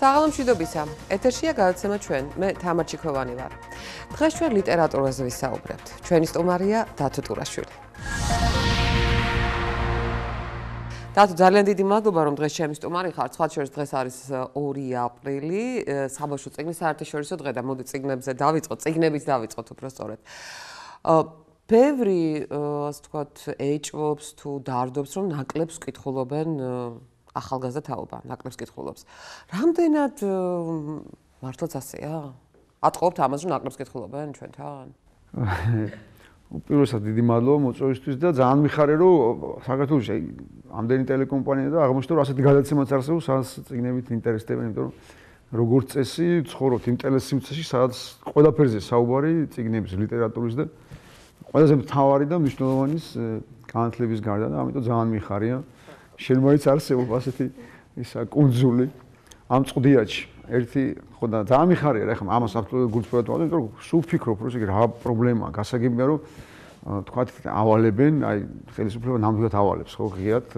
საღამომშვიდობისა. ეთერშია გადაცემა ჩვენ. მე თამარ ჩიქოვანი ვარ. დღეს ჩვენ ლიტერატურაზე ვისაუბრებთ. ჩვენი სტუმარია დათო ტურაშვილი. დათო, ძალიან დიდი მადლობა, რომ დღეს ჩემი სტუმარი ხარ. სხვა შორის დღეს არის 2 აპრილი, საბავშვო წიგნის საერთაშორისო დღე და მოდი წიგნებზე დავიწყოთ, წიგნებით დავიწყოთ უბრალოდ. ბევრი, ასე ვთქვათ, ეჭვობს თუ დარდობს, რომ ნაკლებს კითხულობენ ახალგაზრდა თაობა, ნაკლებს კითხულობს. რამდენად მართლაც ასეა? ატყობთ ამას, რომ ნაკლებს კითხულობენ ჩვენთან? უპირველესად დიდი მადლობა მოწვევისთვის და ძალიან მიხარია, რომ საქართველოში ამდენი ტელეკომპანია და აღმოჩნდა, რომ ასეთი გადაცემაც არსებობს, სადაც წიგნებით ინტერესდებიან, იმიტომ რომ როგორც წესი ცხოვრობთ იმ ტელესივრცეში, სადაც ყველაფერზე საუბარი წიგნების, ლიტერატურის და ყველაზე მთავარი და მნიშვნელოვანი განათლების გარდა და ამიტომ ძალიან მიხარია. შენ მოიც არსებობს ასეთი ისა კუნძული ამ წვდიაჩი. ერთი ხო და ძალიან მიხარია რა ხომ ამას აბსოლუტურად გულწრფელად ვამბობ, იმიტომ რომ სულ ფიქრობ, რომ ეგ რა პრობლემაა, გასაგებია რომ თქვათ ავალებენ, აი ხელისუფლება ნამდვილად ავალებს ხო ღიად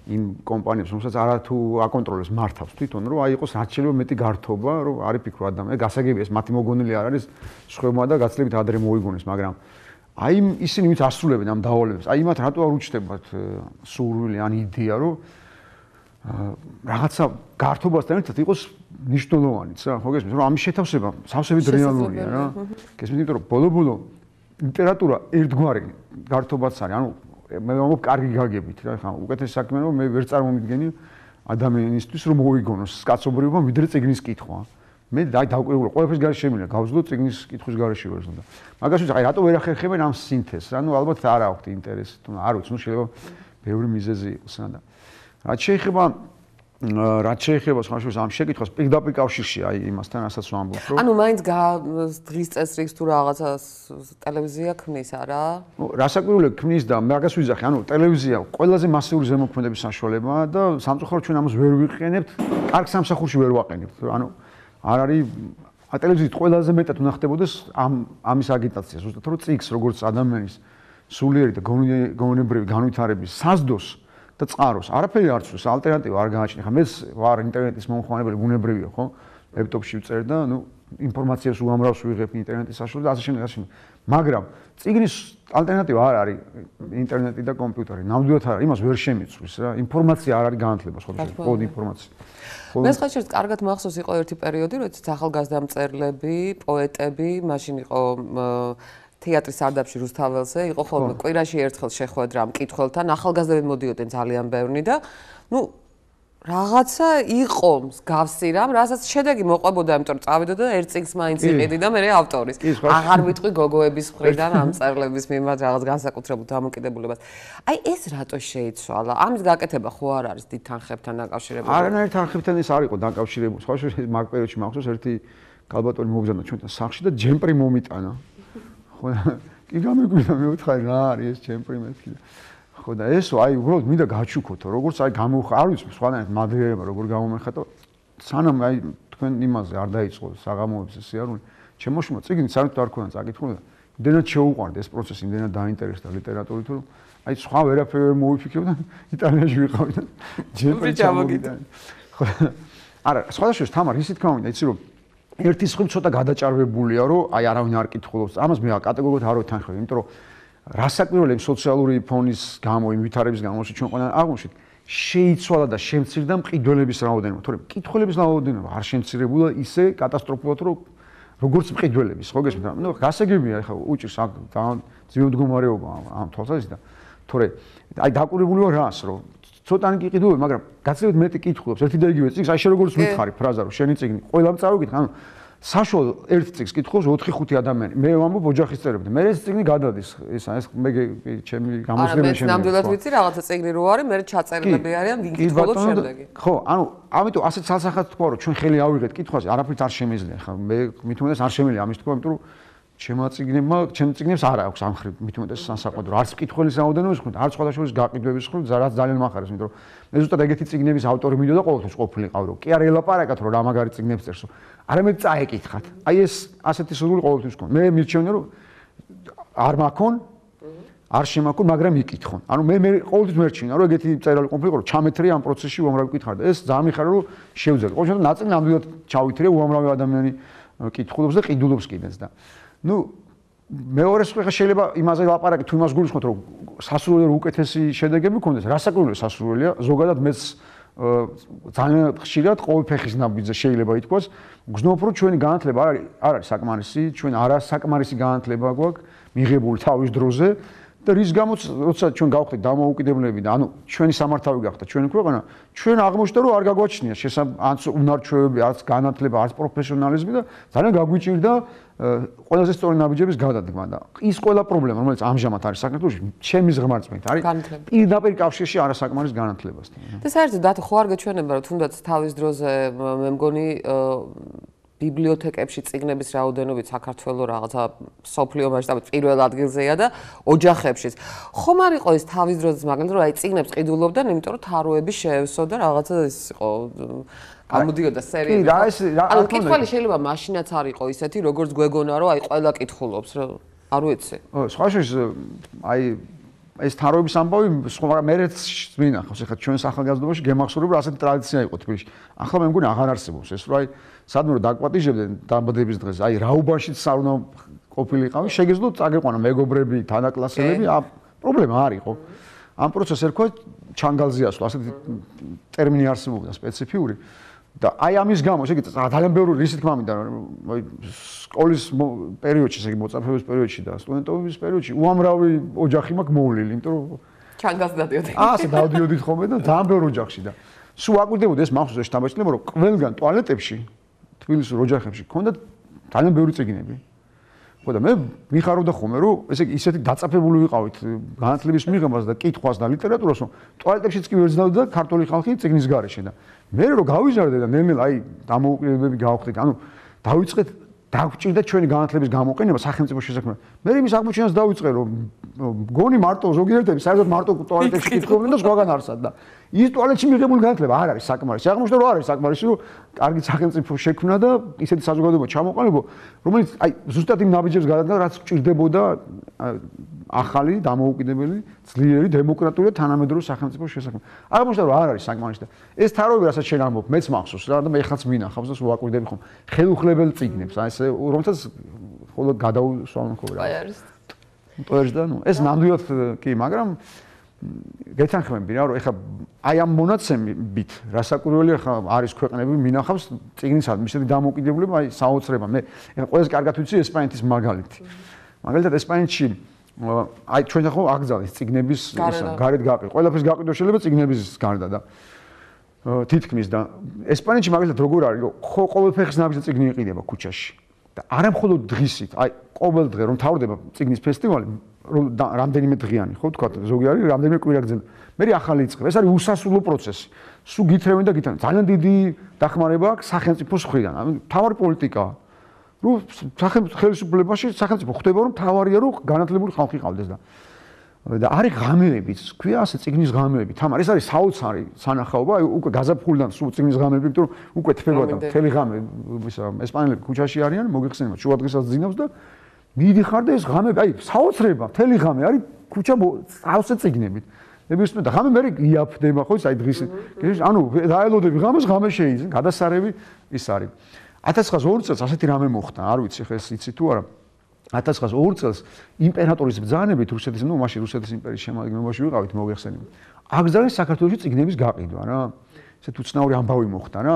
იმ კომპანიებს, რომელსაც არათუ აკონტროლებს მართავს თვითონ, რომ აი იყოს რაც შეიძლება მეტი გართობა, რომ არის ფიქრო ადამიანი, გასაგებია ეს მათი მოგონილი არ არის სხვებმა და გაცილებით ადრე მოიგონეს, მაგრამ აი ისინი ვინც ასრულებენ ამ დავალებებს, აი იმათ რატო არ უჩნდებათ სურვილი ან იდეა, რომ რაღაცა გართობასთან ერთად იყოს მნიშვნელოვანიც რა, ხო გესმის, რომ ამის შეთავსება სავსებით რეალურია რა. გესმის, იმიტომ რომ ბოლო-ბოლო ლიტერატურა ერთგვარი გართობაც არის, ანუ მე ვამბობ კარგი გაგებით რა, ხა უკეთეს საქმე რომ მე ვერ წარმომიდგენი ადამიანისთვის რომ მოიგონოს კაცობრიობა ვიდრე წიგნის კითხვა. მე დავკვირვებულ ყველაფერს გარეშე შემიძლია გავზდო წიგნის კითხვის გარეშე ვარ ზონდა. მაგას ვიცი, აი რატო ვერ ახერხებენ ამ სინთეზს რა, ნუ ალბათ არ აქვთ ინტერესი, თუ არ ვიცი, ნუ შეიძლება ბევრი მიზეზი იყოს რა და რაც შეეხება სხვა შორის ამ შეკითხვას პირდაპირ კავშირში აი იმასთან რასაც ვამბობ რომ ანუ მაინც დღის წესრიგს თუ რაღაცას ტელევიზია ქმნის არა? რასაკვირველია ქმნის და მაგას ვიზახი, ანუ ტელევიზია ყველაზე მასიური ზემოქმედების საშუალებაა და სამწუხაროდ ჩვენ ამას ვერ ვიყენებთ, კარგ სამსახურში ვერ ვაყენებთ. ანუ არ არის ტელევიზიით ყველაზე მეტად უნდა ხდებოდეს ამის აგიტაცია, ზუსტად რომ წიგს როგორც ადამიანის სულიერი და გონებრივი განვითარების საზდოს და წყაროს არაფერი არ ცვლის, ალტერნატივა არ გააჩნია. ხა მეც ვარ ინტერნეტის მომხმარებელი, ბუნებრივია, ხო? ლეპტოპში ვწერ და ნუ ინფორმაციას უამრავს ვიღებ ინტერნეტის საშუალებით და ასე შემდეგ. მაგრამ წიგნის ალტერნატივა არ არის ინტერნეტი და კომპიუტერი. ნამდვილად არ არის, იმას ვერ შემიცვლის რა. ინფორმაცია არ არის განათლება სხვა შორის, კოდი ინფორმაცია. მე სხვა შორის კარგად მახსოვს იყო ერთი პერიოდი, როდესაც ახალგაზრდა მწერლები, პოეტები, მაშინ იყო თეატრის სარდაფში რუსთაველზე, იყო ხოლმე კვირაში ერთხელ შეხვედრა მკითხველთან, ახალგაზრდები მოდიოდნენ ძალიან ბევრი და ნუ რაღაცა იყო მსგავსი რამ, რასაც შედეგი მოყვებოდა, იმიტომ რომ წავიდო და ერთ წიგნს მაინც იყიდი და მე ავტორის. აღარ ვიტყვი გოგოების მხრიდან ამ მწერლების მიმართ რაღაც განსაკუთრებულ დამოკიდებულებას. აი ეს რატო შეიცვალა? ამის გაკეთება ხო არ არის დიდ თანხებთან დაკავშირებული? არანაირ თანხებთან ეს არ იყო დაკავშირებული. სხვა შორის მაგ პერიოდში მახსოვს ერთი კალბატონი მოგზავნა ჩვენთან სახლში და ჯემპრი მომიტანა. ხო კი გამეგვიდა მე ვთხარი რა არის ეს ჩემპრი მეთქი ხო და ესო აი უბრალოდ მინდა გაჩუქოთო როგორც აი გამოვხა არ ვიცი სხვანაირად მადლიერება როგორ გამომეხატო სანამ აი თქვენ იმაზე არ დაიწყო საღამოების სიარული ჩემოშმა წიგნი საერთოდ არ ქონა წაკითხული და იმდენად შეუყვარდა ეს პროცესი იმდენად დაინტერესდა ლიტერატურით რომ აი სხვა ვერაფერი ვერ მოვიფიქრე და იტალიაში ვიყავი და ჯემპრი ჩამოგიდა ხო არა სხვადასხვა თამარ ისიც გამოვიდა იცი რომ ერთი სხვი ცოტა გადაჭარბებულია, რომ აი არავინ არ კითხულობს. ამას მე კატეგორიულად არ ვეთანხმები, იმიტომ რომ რასაკვირველია სოციალური ფონის გამო, იმ ვითარების გამო, ჩვენ ყველანი აღმოჩნდით, შეიცვალა და შემცირდა მყიდველების რაოდენობა. თორემ მკითხველების რაოდენობა არ შემცირებულა ისე კატასტროფულად, რომ როგორც მყიდველების, ხო გესმით? ნუ გასაგებია, ხა უჭირს ძალიან ძვირი მდგომარეობა ამ თვალსაზრისით და თორე აი დაკვირვებული ვარ რას, რომ ცოტანი კი ყიდულობ, მაგრამ გაცილებით მეტი კითხულობს ერთი და იგივე წიგნს, აი შე როგორც მითხარი ფრაზა რომ შენი წიგნი ყველამ წავიკითხე, ანუ საშუალო ერთ წიგნს კითხულობს 4-5 ადამიანი. მე ვამბობ ოჯახის წევრებთან. მე ეს წიგნი გადადის, ეს მე ჩემი გამოსვლები შემიძლია. ნამდვილად ვიცი რაღაცა წიგნი რო არის, მე ჩაწერილები არიან, ვინ კითხულობს შემდეგი. ხო, ანუ ამიტომ ასეთ ცალსახად თქვა რომ ჩვენ ხელი ავიღეთ კითხვაზე, არაფერს არ შემიძლია. ხა მე მით უმეტეს არ შემიძლია ამის თქვა, იმიტომ რომ ჩემ წიგნებს არ აქვს ამ ხრივ მით უმეტეს სასაყვედრო. არც მკითხველის რაოდენობის ხრივ, არც სხვადასხვა გაყიდვების ხრივ, რაც ძალიან მახარებს, იმიტომ რომ მე ზუსტად ეგეთი წიგნების ავტორი მიდოდა ყოველთვის ყოფილიყავ, რომ კი არ ელაპარაკათ, რომ რა მაგარი წიგნებს წერსო. არამედ წაეკითხათ. აი ეს ასეთი სურვილი ყოველთვის მქონდა. მე მირჩევნია, რომ არ მაქონ არ შემაქონ, მაგრამ იკითხონ. ანუ მე ყოველთვის მერჩინა, რომ ეგეთი წერილი ყოფილიყო, რომ ჩამეთრია ამ პროცესში უამრავი კითხვა და ეს ძალიან მიხარია, რომ შევძლებთ. ყოველ შემთხვევაში ნაწილი ნამდვილად ჩავითრია, უამრავი ადამიანი კითხულობს და ყიდულობს კიდეც და. ნუ მეორეს ხა შეიძლება იმაზე ლაპარაკი თუ იმას გულისხმობთ, რომ სასურველია უკეთესი შედეგები გქონდეს, რასაკვირველია სასურველია, ზოგადად მეც ძალიან ხშირად ყოველ ფეხის ნაბიჯზე შეიძლება ითქვას, გზნობ რომ ჩვენი განათლება არ არის საკმარისი, ჩვენ არასაკმარისი განათლება გვაქვს მიღებული თავის დროზე და რის გამოც როცა ჩვენ გავხდით დამოუკიდებლები და ანუ ჩვენი სამართავი გახდა ჩვენი ქვეყანა, ჩვენ აღმოჩნდა რომ არ გაგვაჩნია არც უნარჩვევები, არც განათლება, არც პროფესიონალიზმი და ძალიან გაგვიჭირდა ყველაზე სწორი ნაბიჯების გადადგმა და ის ყველა პრობლემა რომელიც ამჟამად არის საქართველოში, ჩემი ზღმარწმენით არის პირდაპირ კავშირში არასაკმარის განათლებასთან. და საერთოდ დათო ხო არ გეჩვენება რომ თუნდაც თავის დროზე მე მგონი ბიბლიოთეკებში წიგნების რაოდენობით საქართველოს რაღაცა სოფლიო მასშტაბით პირველ ადგილზეა და ოჯახებშიც. ხომ არ იყო ეს თავის დროზე მაგალითად რომ აი წიგნებს ყიდულობდნენ, იმიტომ რომ თაროები შეევსო და რაღაცა ის იყო გამოდიოდა სერიები. კი, რა ეს ანუ კითხველი შეიძლება მაშინაც არ იყო ისეთი, როგორც გვეგონა რომ აი ყველა კითხულობს, არ ვიცი. სხვა შეიძლება აი ეს თაროების ამბავი სხვა მერეც მინახავს. ეხლა ჩვენ ახალგაზრდობაში გემახსოვრებ რომ ასეთი ტრადიცია იყო თბილისში. ახლა მე მგონი აღარ არსებობს ეს, რომ აი სადმე რომ დაგვაპატიჟებდნენ დაბადების დღეს, აი რაუბანშიც არ უნდა ყოფილიყავი, შეგეძლოთ წაგეყვანა მეგობრები, თანაკლასელები, პრობლემა არ იყო. ამ პროცესს ერქვა ჩანგალზე ასვლა, ასეთი ტერმინი არსებობდა სპეციფიური. და აი ამის გამო, ესე იგი ძალიან ბევრი რისი თქმა მინდა, სკოლის პერიოდში, ესე იგი მოწაფეობის პერიოდში და სტუდენტობის პერიოდში უამრავი ოჯახი მაქვს მოვლილი, იმიტომ რომ ჩანგალს დადიოდი. ასე დავდიოდით ხოლმე და ძალიან ბევრი ოჯახში და სულ აკვირდებოდი ეს მახსოვს შთაბეჭდილება, რომ ყველგან ტუალეტებში თბილისის ოჯახებში ჰქონდა ძალიან ბევრი წიგნები. ხო და მე მიხარობდა ხოლმე, რომ ესე იგი ისეთი დაწაფებული ვიყავით განათლების მიღებას და კითხვას და ლიტერატურას, რომ ტუალეტებშიც კი ვერ ზნავდა ქართული ხალხი წიგნის გარეშე და მე რო გავიზარდე და ნელ-ნელა აი დამოუკიდებლები გავხდით, ანუ დავიწყეთ დაგვჭირდა ჩვენი განათლების გამოყენება სახელმწიფო შესაქმნელად. მე იმის აღმოჩენას დავიწყე, რომ გონი მარტო ზოგიერთები საერთოდ მარტო ტუალეტებში კითხულობდნენ და სხვაგან არსად და ის ტუალეტში მიღებული განათლება არ არის საკმარისი. აღმოჩნდა რომ არ არის საკმარისი, რომ კარგი სახელმწიფო შექმნა და ისეთი საზოგადოება ჩამოყალიბო, რომელიც აი ზუსტად იმ ნაბიჯებს გადადგა, რაც გჭირდებოდა ახალი, დამოუკიდებელი, ძლიერი, დემოკრატიული და თანამედროვე სახელმწიფოს შესაქმნელად. აღმოჩნდა რომ არ არის საკმარისი და ეს თაროები, რასაც შენ ამბობ, მეც მახსოვს რა და მე ხაც მინახავს და სულ აკვირდები ხომ ხელუხლებელ წიგნებს, აი ეს რომელსაც ხოლმე გადაუსვამენ ხოლმე რა. აი არის. პოეჟ და ნუ ეს ნამდვილად კი, მაგრამ გეთანხმები რა, რომ ეხა აი ამ მონაცემებით რასაკვირველია ხა არის ქვეყნები მინახავს წიგნისადმი ისეთი დამოუკიდებლობა, აი საოცრება. მე ეხა ყველაზე კარგად ვიცი ესპანეთის მაგალითი. მაგალითად ესპანეთში აი ჩვენ ახლა აგზავნის წიგნების გარეთ გაყიდვა. ყველაფერს გაყიდვა შეიძლება წიგნების გარდა და თითქმის და ესპანეთში მაგალითად როგორ არის, რომ ხო ყოველ ფეხის ნაბიჯზე წიგნი იყიდება ქუჩაში. და არა მხოლოდ დღისით, აი ყოველ დღე რომ თავდება წიგნის ფესტივალი, რომ რამდენიმე დღიანი, ხო თქვა, ზოგი არის რამდენიმე კვირა გრძელდება. მე ახალი იწყება. ეს არის უსასრულო პროცესი. სულ გითხრევენ და გითხრევენ. ძალიან დიდი დახმარება აქვს სახელმწიფოს მხრიდან. ანუ თავარი პოლიტიკაა. რომ ხელისუფლებაში სახელმწიფო ხდება, რომ თავარია რომ განათლებული ხალხი ყავდეს და არის ღამეებიც, ქვია ასე წიგნის ღამეები. თამარ ეს არის საოცარი სანახაობა, აი უკვე გაზაფხულიდან სულ წიგნის ღამეები, იმიტომ რომ უკვე თბება და მთელი ღამე ისა ესპანელები ქუჩაში არიან, მოგეხსენებათ, შუადღესაც ძინავს და მიდიხარ და ეს ღამეები, აი საოცრება, მთელი ღამე არის ქუჩა ავსე წიგნებით. ნებისმიერ და ღამე მე იაფდება ხო ის აი დღის ანუ დაელოდები ღამეს, ღამე შეიძენ, გადასარევი ის არის. 1902 წელს ასეთი რამე მოხდა, არ ვიცი ხა ეს იცი თუ არა. 1902 წელს იმპერატორის ბრძანებით რუსეთის, ნუ მაშინ რუსეთის იმპერიის შემადგენლობაში ვიყავით, მოგეხსენებათ. აკრძალეს საქართველოში წიგნების გაყიდვა რა. ესეთ უცნაური ამბავი მოხდა რა.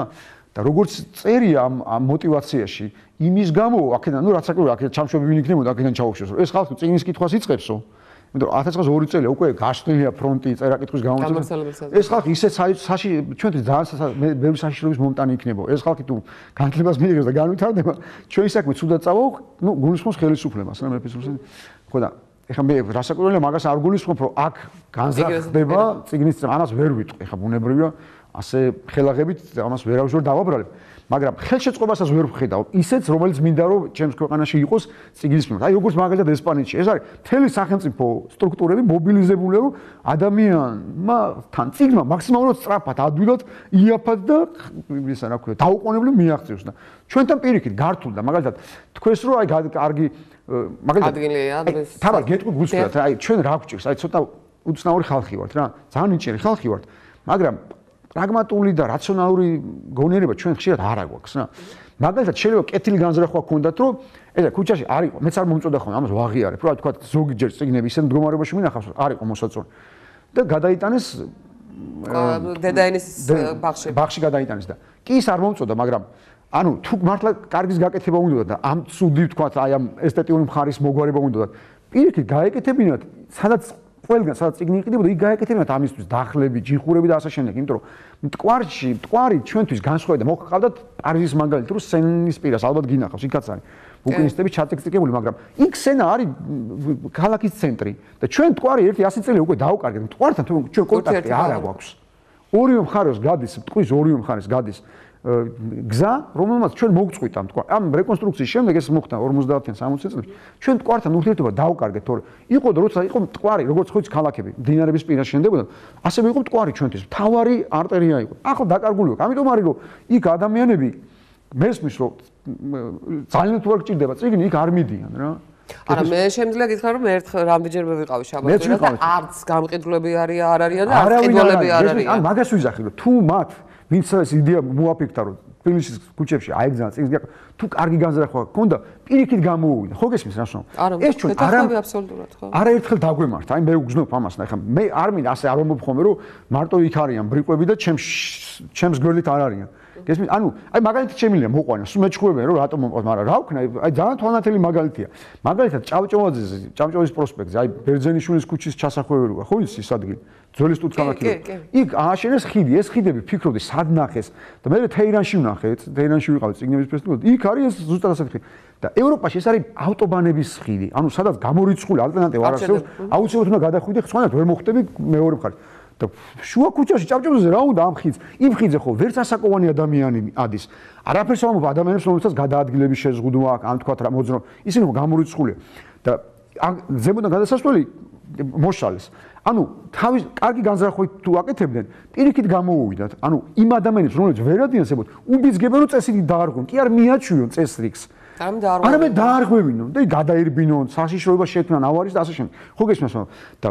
და როგორც წერია ამ мотиваციაში, იმის გამო, აქედან, ნუ რაც საკუთარ, აქედან ჩამშვები ვინ იქნებოდა, აქედან ჩაუშვეს. ეს ხალხი წიგნის კითხვას იწყებსო. იმიტომ რომ 1902 წელი უკვე გაშლილია ფრონტი წერა-კითხვის გამოცემა. ეს ხალხი ისეთ ჩვენთვის ძალიან ბევრი საშიშროების მომტანი იქნება. ეს ხალხი თუ განათლებას მიიღებს და განვითარდება, ჩვენი საქმე ცუდად წავა, ნუ გულისხმობს ხელისუფლებას, რა მეფის რუსეთი. ხო და ეხლა მე რასაკვირველია მაგას არ გულისხმობ, რომ აქ განზრახდება წიგნის ამას ვერ ვიტყვი. ეხლა ბუნებრივია ასე ხელაღებით ამას ვერავის დავაბრალებ. მაგრამ ხელშეწყობასაც ვერ ვხედავ ისეც, რომელიც მინდა რომ ჩემს ქვეყანაში იყოს წიგნის მიმართ. აი როგორც მაგალითად ესპანეთში, ეს არის მთელი სახელმწიფო სტრუქტურები მობილიზებულია, რომ ადამიანმა თან წიგნმა მაქსიმალურად სწრაფად, ადვილად იაფად და ისა რა ქვია, დაუყოვნებლივ მიაღწიოს და ჩვენთან პირიქით გართულდა მაგალითად თქვენს რომ აი კარგი მაგალითად ადგილია დღეს თავად გეტყვი გულწრფელად აი ჩვენ რა გვჭირს აი ცოტა უცნაური ხალხი ვართ რა ძალიან ნიჭიერი ხალხი ვართ მაგრამ პრაგმატული და რაციონალური გონიერება ჩვენ ხშირად არ აგვაქვს რა მაგალითად შეიძლება კეთილი განზრახვა გქონდათ რომ ესა ქუჩაში არ იყო მეც არ მომწოდა ხოლმე ამას ვაღიარებ რა თქვა ზოგი ჯერ წიგნები ისეთ მდგომარეობაში მინახავს არ იყო მოსაწონი და გადაიტანეს დედაენის ბაღში გადაიტანეს და კი ის არ მომწოდა მაგრამ ანუ თუ მართლა კარგის გაკეთება უნდა და ამ ცუდი თქვა აი ამ ესთეტიური მხარის მოგვარება უნდა პირიქით გაეკეთებინათ სადაც ყველგან სადაც წიგნი იყიდებოდა იქ გაეკეთებინათ ამისთვის დახლები ჯიხურები და ასე შემდეგ იმიტომ რომ მტკვარი ჩვენთვის განსხვავდა მოხყავდათ პარიზის მაგალითი რომ სენის პირას ალბათ გინახავს იქაც არის ბუკინისტები ჩატექსტიკებული მაგრამ იქ სენა არის ქალაქის ცენტრი და ჩვენ მტკვარი 100 წელი უკვე დაუკარგეთ მტკვართან ჩვენ კონტაქტი არ აქვს ორივე მხარეს გადის მტკვრის ორივე მხარეს გადის გზა რომელმაც ჩვენ მოგწყვიტა მტკვარ ამ რეკონსტრუქციის შემდეგ ეს მოხდა 50-იან 60 წლებში ჩვენ მტკვართან ურთიერთობა დაუკარგეთ თორე იყო როცა იყო მტკვარი როგორც ხოც ქალაქები დინარების პირას შენდებოდა ასევე იყო მტკვარი ჩვენთვის მთავარი არტერია იყო ახლა დაკარგული აქვს ამიტომ არის რომ იქ ადამიანები მესმის რომ ძალიან თუ არ გჭირდება წიგნი იქ არ მიდიან რა არა მე შემიძლია გითხრა რომ ერთხელ რამდენჯერმე ვიყავი შაბათში და არც გამყიდვლები არ არიან და არც ყიდულები არ არიან ან მაგას ვიზახი რომ თუ მათ ვინც ეს იდეა მოაფიქრა რომ თბილისის ქუჩებში აიგზავნა წიგნს თუ კარგი განზრახვა გქონდა პირიქით გამოუვიდა ხო გესმის რა შენ ეს ჩვენ აბსოლუტურად ხო არაერთხელ დაგვემართა აი მე უგზნობ ამას ნა ეხლა მე არ მინდა ასე არ ვამბობ რომ მარტო იქ არიან ბრიყვები და ჩემს გვერდით არ არიან გესმის ანუ აი მაგალითად შემიძლია მოყვანა სულ მეჩხუბებიან რომ რატომ მომყავს მაგრამ რა ვქნა აი ძალიან თვალნათელი მაგალითია მაგალითად ჭავჭავაძის პროსპექტზე აი ბერძენიშვილის ქუჩის ჩასახვეველი ხო ის ადგილი ძველი სტუდქალაქი იქ ააშენეს ხიდი ეს ხიდები ფიქრობდი სად ნახეს და მე თეირანში ვნახე თეირანში ვიყავი წიგნების ფესტივალზე იქ არის ეს ზუსტად ასეთი ხიდი და ევროპაში ეს არის ავტობანების ხიდი ანუ სადაც გამორიცხული ალტერნატივა არ არსებობს აუცილებლად უნდა გადახვიდე ხსვანად ვერ მოხდები მეორე მხარეს და შუა ქუჩაში ჭავჭავაძეზე რა უნდა ამ ხიდს იმ ხიდზე ხო ვერც ასაკოვანი ადამიანი ადის არაფერს ამობ ადამიანებს რომელსაც გადაადგილების შეზღუდვა აქვს ან თქვა რა მოძრო ისინი გამორიცხულია და ზემოდან გადასასვლელი მოშალეს ანუ თავის კარგი განზრახვით თუ აკეთებდნენ პირიქით გამოუვიდათ ანუ იმ ადამიანებს რომლებიც ვერ ადიანსებოდ უბიძგებენ რომ წესრიგით დაარღვევენ კი არ მიაჩვიონ წესრიგს არამედ დაარღვევინონ და გადაირბინონ საშიშროება შექმნან ავარის და ასე შემდეგ ხო გესმის და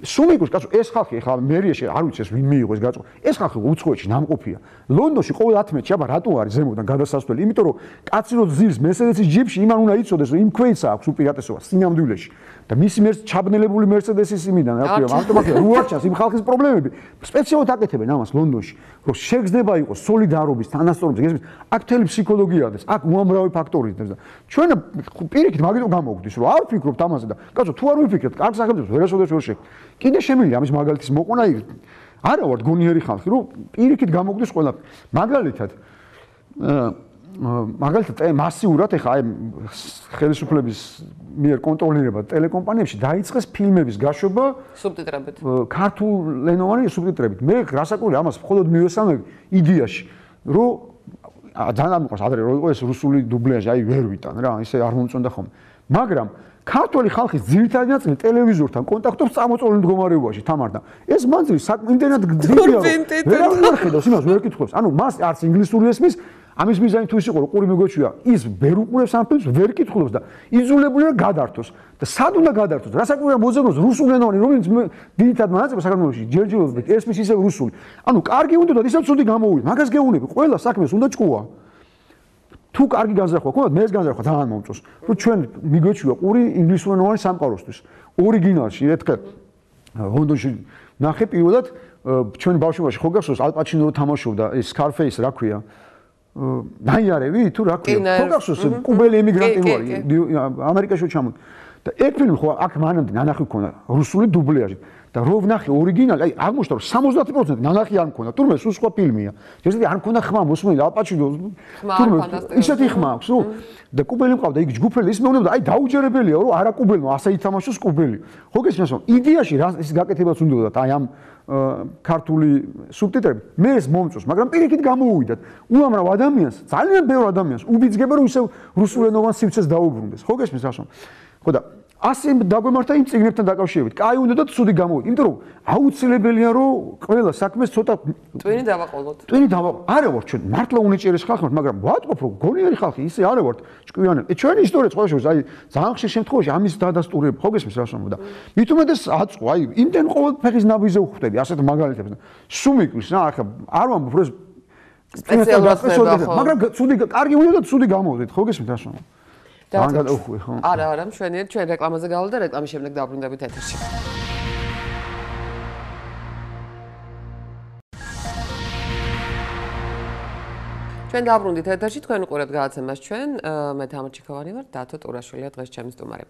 სუმიკოს კაცო ეს ხალხი ახლა მერიაში არ ვიცი ეს ვინ მიიღო ეს გაწყვეტა ეს ხალხი უცხოეთში ნამყოფია ლონდონში ყოველ 10 მეტრში აბა რატო არის ზემოდან გადასასვლელი იმიტომ რომ კაცი რო ძირს მერსედესის ჯიპში იმან უნდა იცოდეს რომ იმ ქვეიცა აქვს უპირატესობა სინამდვილეში და მისი ჩაბნელებული მერსედესის იმიდან რა ქვია ავტომატია რო არჩას იმ ხალხის პრობლემები სპეციალურად აკეთებენ ამას ლონდონში რომ შეგრძნება იყოს სოლიდარობის თანასწორობის გესმის აქ მთელი ფსიქოლოგია არის აქ უამრავი ფაქტორი და ჩვენ პირიქით მაგიტომ გამოვგვდის რომ არ ვფიქრობთ ამაზე და კაცო თუ არ ვიფიქრებთ კარგ სახელმწიფოს ვერასოდეს ვერ შეგ კიდე შემიძლია ამის მაგალითის მოყვანა არა ვარ გონიერი ხალხი რომ პირიქით გამოგვდის ყველაფერი მაგალითად მასიურად ეხა აი ხელისუფლების მიერ კონტროლირება ტელეკომპანიებში დაიწყეს ფილმების გაშვება სუბტიტრებით ქართულენოვანი სუბტიტრებით მე რასაკვირველია ამას მხოლოდ მივესალმები იდეაში რომ ძალიან მიყვარს ადრე რო იყო ეს რუსული დუბლაჟი აი ვერ ვიტან რა ისე არ მომწონდა ხოლმე მაგრამ ქართული ხალხის ძირითადი ნაწილი ტელევიზორთან კონტაქტობს წამოწოლილ მდგომარეობაში თამართან ეს მანძილი იმდენად გძლიაო ვერ ხედავს იმას ვერ კითხავს ანუ მას არც ინგლისური ესმის ამის მიზანი თუ ის იყო რომ ყური მეგოჩვია ის ვერ უყურებს ამ ფილმს ვერ კითხულობს და იძულებულია გადართოს და სად უნდა გადართოს რასაკვირველია მოძებნოს რუსულენოვანი რომელიც ძირითადად მონაწილეობს საქართველოში ჯერჯერობით ესმის ისევ რუსული ანუ კარგი უნდა და ისევ ცუდი გამოვიდა მაგას გეუბნები ყველა საქმეს უნდა ჭკუა თუ კარგი განზრახვა გქონდათ მე ეს განზრახვა ძალიან მომწონს რომ ჩვენ მიგვეჩვია ყური ინგლისურენოვანი სამყაროსთვის ორიგინალში ერთხელ ლონდონში ნახე პირველად ჩვენ ბავშვობაში ხო გახსოვს ალ პაჩინო რო თამაშობდა ეს Scarface რა ქვია ნაიარევი თუ რა ქვია ხო გახსოვს კუბელი ემიგრანტი რო არის ამერიკაში ჩამოვიდა და ეგ ფილმი ხო აქ მანამდე ნანახი ქონდა რუსული დუბლაჟით და რო ვნახე ორიგინალი აი აღმოჩნდა რომ 70% ნანახი არ მქონდა თურმე სულ სხვა ფილმია ჯერჯერობით არ მქონდა ხმა მოსმენილი ალ პაჩინო თურმე ისეთი ხმა აქვს რომ და კუბელი მყავდა იქ ჯგუფელი ის მეუბნება აი დაუჯერებელია რომ არა კუბელმა ასე ითამაშოს კუბელი ხო გესმის რომ იდეაში რა ის გაკეთებაც უნდა აი ამ ქართული სუბტიტრები მე ეს მომწონს მაგრამ პირიქით გამოუვიდათ უამრავ ადამიანს ძალიან ბევრ ადამიანს უბიძგებენ რომ ისევ რუსულენოვან სივრცეს დაუბრუნდეს ხო გესმის რა ხო და ასე დაგვემართა იმ წიგნებთან დაკავშირებით. კაი უნდა და ცუდი გამოვიდა. იმიტომ რომ აუცილებელია რომ ყველა საქმეს ცოტა ტვინი დავაყოლოთ. ტვინი არა ვარ ჩვენ მართლა უნიჭიერეს ხალხი ვართ, მაგრამ ვატყობ რომ გონიერი ხალხი ისე არა ვართ ჭკვიანები. ჩვენი ისტორია სხვა შორის აი ძალიან ხშირ შემთხვევაში ამის დადასტურება ხო გესმის რას ვამბობ და მით უმეტეს აწყო აი იმდენ ყოველ ფეხის ნაბიჯზე ვხვდები ასეთ მაგალითებს და სუმიკვის რა ახლა არ ვამბობ რომ სპეციალურად მაგრამ ცუდი კარგი უნდა და ცუდი გამოვდეთ ხო გესმით რას ვამბობ არა, მშვენიერ, ჩვენ რეკლამაზე გავლა და რეკლამის შემდეგ დავბრუნდებით ეთერში. ჩვენ დავბრუნდით ეთერში, თქვენ უყურებთ გადაცემას ჩვენ, მე თამარ ჩიქოვანი ვარ, დათო ტურაშვილია დღეს ჩემი სტუმარი.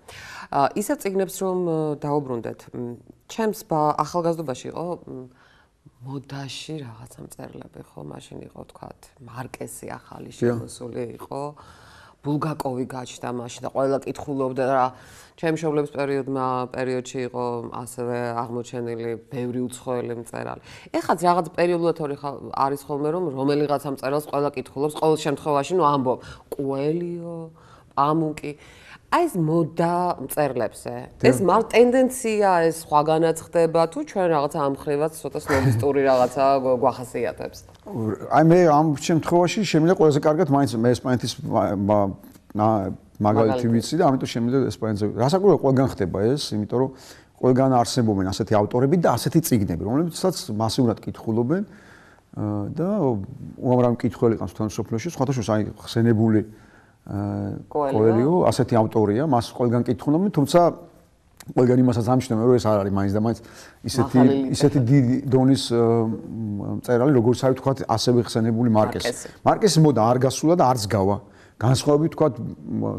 ისევ წიგნებს რომ დაუბრუნდეთ, ჩემს ახალგაზრდობაში იყო მოდაში რაღაცა მწერლები, ხო, მაშინ იყო თქვათ, მარკესი ახალი შემოსული იყო. ბულგაკოვი გაჩნდა მაშინ და ყველა კითხულობდა რა ჩემი მშობლების პერიოდში იყო ასევე აღმოჩენილი ბევრი უცხოელი მწერალი. ეხაც რაღაც პერიოდულად არის ხოლმე რომ რომელიღაცა მწერალს ყველა კითხულობს ყოველ შემთხვევაში ნუ ამბობ კუელიო, პამუკი. აი ეს მოდა მწერლებზე. ეს ტენდენცია ეს სხვაგანაც ხდება თუ ჩვენ რაღაცა ამხრივად ცოტა სნობისტური რაღაცა გვახასიათებს. აი მე ამ შემთხვევაში შემიძლია ყველაზე კარგად მაინც მე ესპანეთის მაგალითი ვიცი და ამიტომ შემიძლია ესპანეთზე. რასაკვირველია ყველგან ხდება ეს, იმიტომ რომ ყველგან არსებობენ ასეთი ავტორები და ასეთი წიგნები, რომლებიცაც მასიურად კითხულობენ და უამრავი მკითხველი ყავს თან სოფლიოში, სხვათა შორის აი ხსენებული კოელიო ასეთი ავტორია, მას ყველგან კითხულობენ, თუმცა ყველგან იმასაც ამჩნევენ, რომ ეს არ არის მაინც და მაინც ისეთი დიდი დონის მწერალი, როგორც არის თქვათ, ასევე ხსენებული მარკესი. მარკესის მოდა არ გასულა და არც გავა. განსხვავებით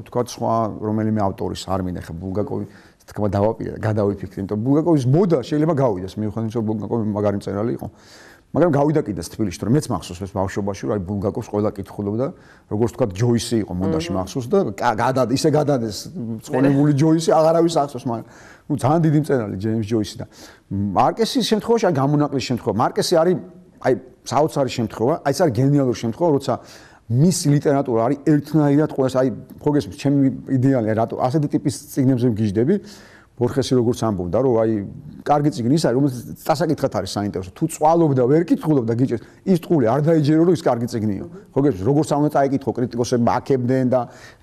თქვათ სხვა რომელიმე ავტორის არ მინდა ხა ბულგაკოვი თქმა დავაპირე და გადავიფიქრე, იმიტომ ბულგაკოვის მოდა შეიძლება გავიდეს, მიუხედავად რომ ბულგაკოვი მაგარი მწერალი იყო. მაგრამ გავიდა კიდეც თბილისში, რომ მეც მახსოვს ეს ბავშვობაში, რომ აი ბულგაკოვს ყველა კითხულობდა, როგორც თქვათ ჯოისი იყო მოდაში მახსოვს და ისე გადადეს ცხონებული ჯოისი, აღარავის ახსოვს, მაგრამ ნუ ძალიან დიდი მწერალი ჯეიმს ჯოისი და მარკესის შემთხვევაში აი გამონაკლისის შემთხვევა. მარკესი არის აი საოცარი შემთხვევა, აი ეს არის გენიალური შემთხვევა, როცა მის ლიტერატურა არის ერთნაირად ყოველს აი ხო გესმის ჩემი იდეალია რატო ასეთი ტიპის წიგნებზე მგიჟდები ბორხესი როგორც ამბობდა რომ აი კარგი წიგნი ის არის რომელიც წასაკითხად არის საინტერესო თუ წვალობდა ვერ კითხულობდა გიჭერს ის ტყული არ დაიჯერო რომ ის კარგი წიგნია ხო გესმის როგორც ამუნდა წაიკითხო კრიტიკოსები აქებდნენ და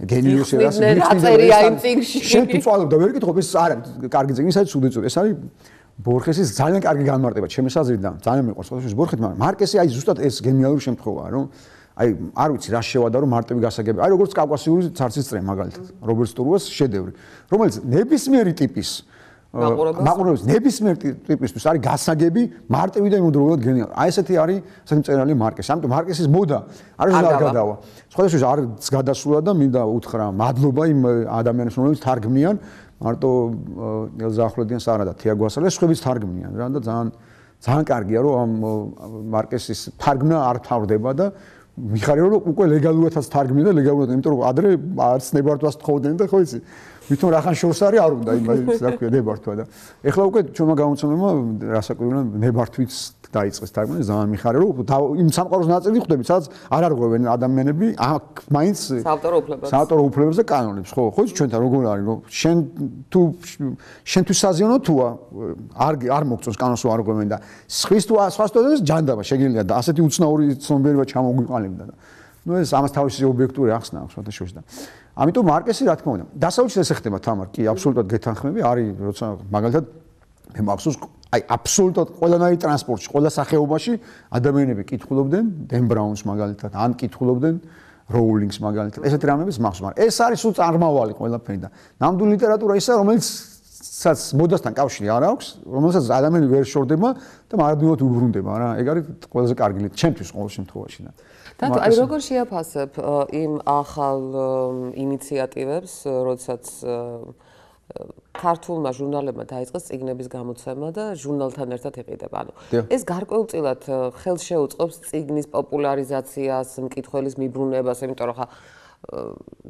გენიოსები რაწერია იმ წიგნში შენ თუ წვალობდა ვერ კითხო ეს არ არის კარგი წიგნი ის არის ცუდეწური ეს არის ბორხესის ძალიან კარგი განმარტება ჩემი საზრით და ძალიან მიყვარს ყოველთვის ბორხეთი მაგრამ მარკესი აი ზუსტად ეს გენიალური შემთხვევაა რომ აი არ ვიცი რა შევადა რომ მარტივი გასაგები აი როგორც კავკასიური ცარცის წრე მაგალითად რობერტ სტურუას შედევრი რომელიც ნებისმიერი ტიპის მაყურებელს ნებისმიერ ტიპისთვის არის გასაგები მარტივი და იმდროულად გენიალური აი ესეთი არის ესეთი მწერალი მარკესი ამიტომ მარკესის მოდა არ გადავა სხვადასხვა არც გადასულა და მინდა უთხრა მადლობა იმ ადამიანებს რომლებიც თარგმნიან მარტო ელზა ახვლედიანს არა და თიაგო ასალეს სხვებიც თარგმნიან რა და ძალიან კარგია რომ ამ მარკესის თარგმნა არ თავდება და მიხარია რომ უკვე ლეგალურადაც თარგმნია და ლეგალურად, იმიტომ რომ ადრე არც ნებართვას თხოვდნენ და ხო იცი, ვითომ რახან შორს არის არ უნდა იმას რა ქვია ნებართვა და ეხლა უკვე ჩვენმა გამოცემებმა რასაკვირველია ნებართვით დაიწყეს თარგმნა, ძალიან მიხარია რომ იმ სამყაროს ნაწილი ხვდებით, სადაც არ არღვევენ ადამიანები აქ მაინც საავტორო უფლებებს და კანონებს, ხო იცი ჩვენთან როგორ არის რომ შენთვის საზიანო თუა არ მოგწონს კანონს არ არღვევენ და სხვას თუ ჯანდაბა შეგიძლია და ასეთი უცნაური ცნობიერება ჩამოგვიყალიბდა და ნუ ეს ამას თავისი ობიექტური ახსნა აქვს მათ შორის და ამიტომ მარკესი რა თქმა უნდა დასავლეთში ესე ხდება თამარ კი აბსოლუტურად გეთანხმები არის როცა მაგალითად მე მახსოვს აი აბსოლუტურად ყველანაირი ტრანსპორტში ყველა სახეობაში ადამიანები კითხულობდნენ დენ ბრაუნს მაგალითად ან კითხულობდნენ როულინგს მაგალითად ესეთი რამების მახსოვს მაგრამ ეს არის სულ წარმავალი ყველაფერი და ნამდვილი ლიტერატურა ისაა რომელიც საც მოდასთან კავშირი არ აქვს რომელსაც ადამიანი ვერ შორდება და მარადმევად უბრუნდება რა ეგ არის ყველაზე კარგი ჩემთვის ყოველ შემთხვევაში და დათო, აი როგორ შეაფასებ იმ ახალ ინიციატივებს, როდესაც ქართულმა ჟურნალებმა დაიწყეს წიგნების გამოცემა და ჟურნალთან ერთად იყიდება. ანუ ეს გარკვეულწილად ხელს შეუწყობს წიგნის პოპულარიზაციას, მკითხველის მიბრუნებას, იმიტომ რომ ხა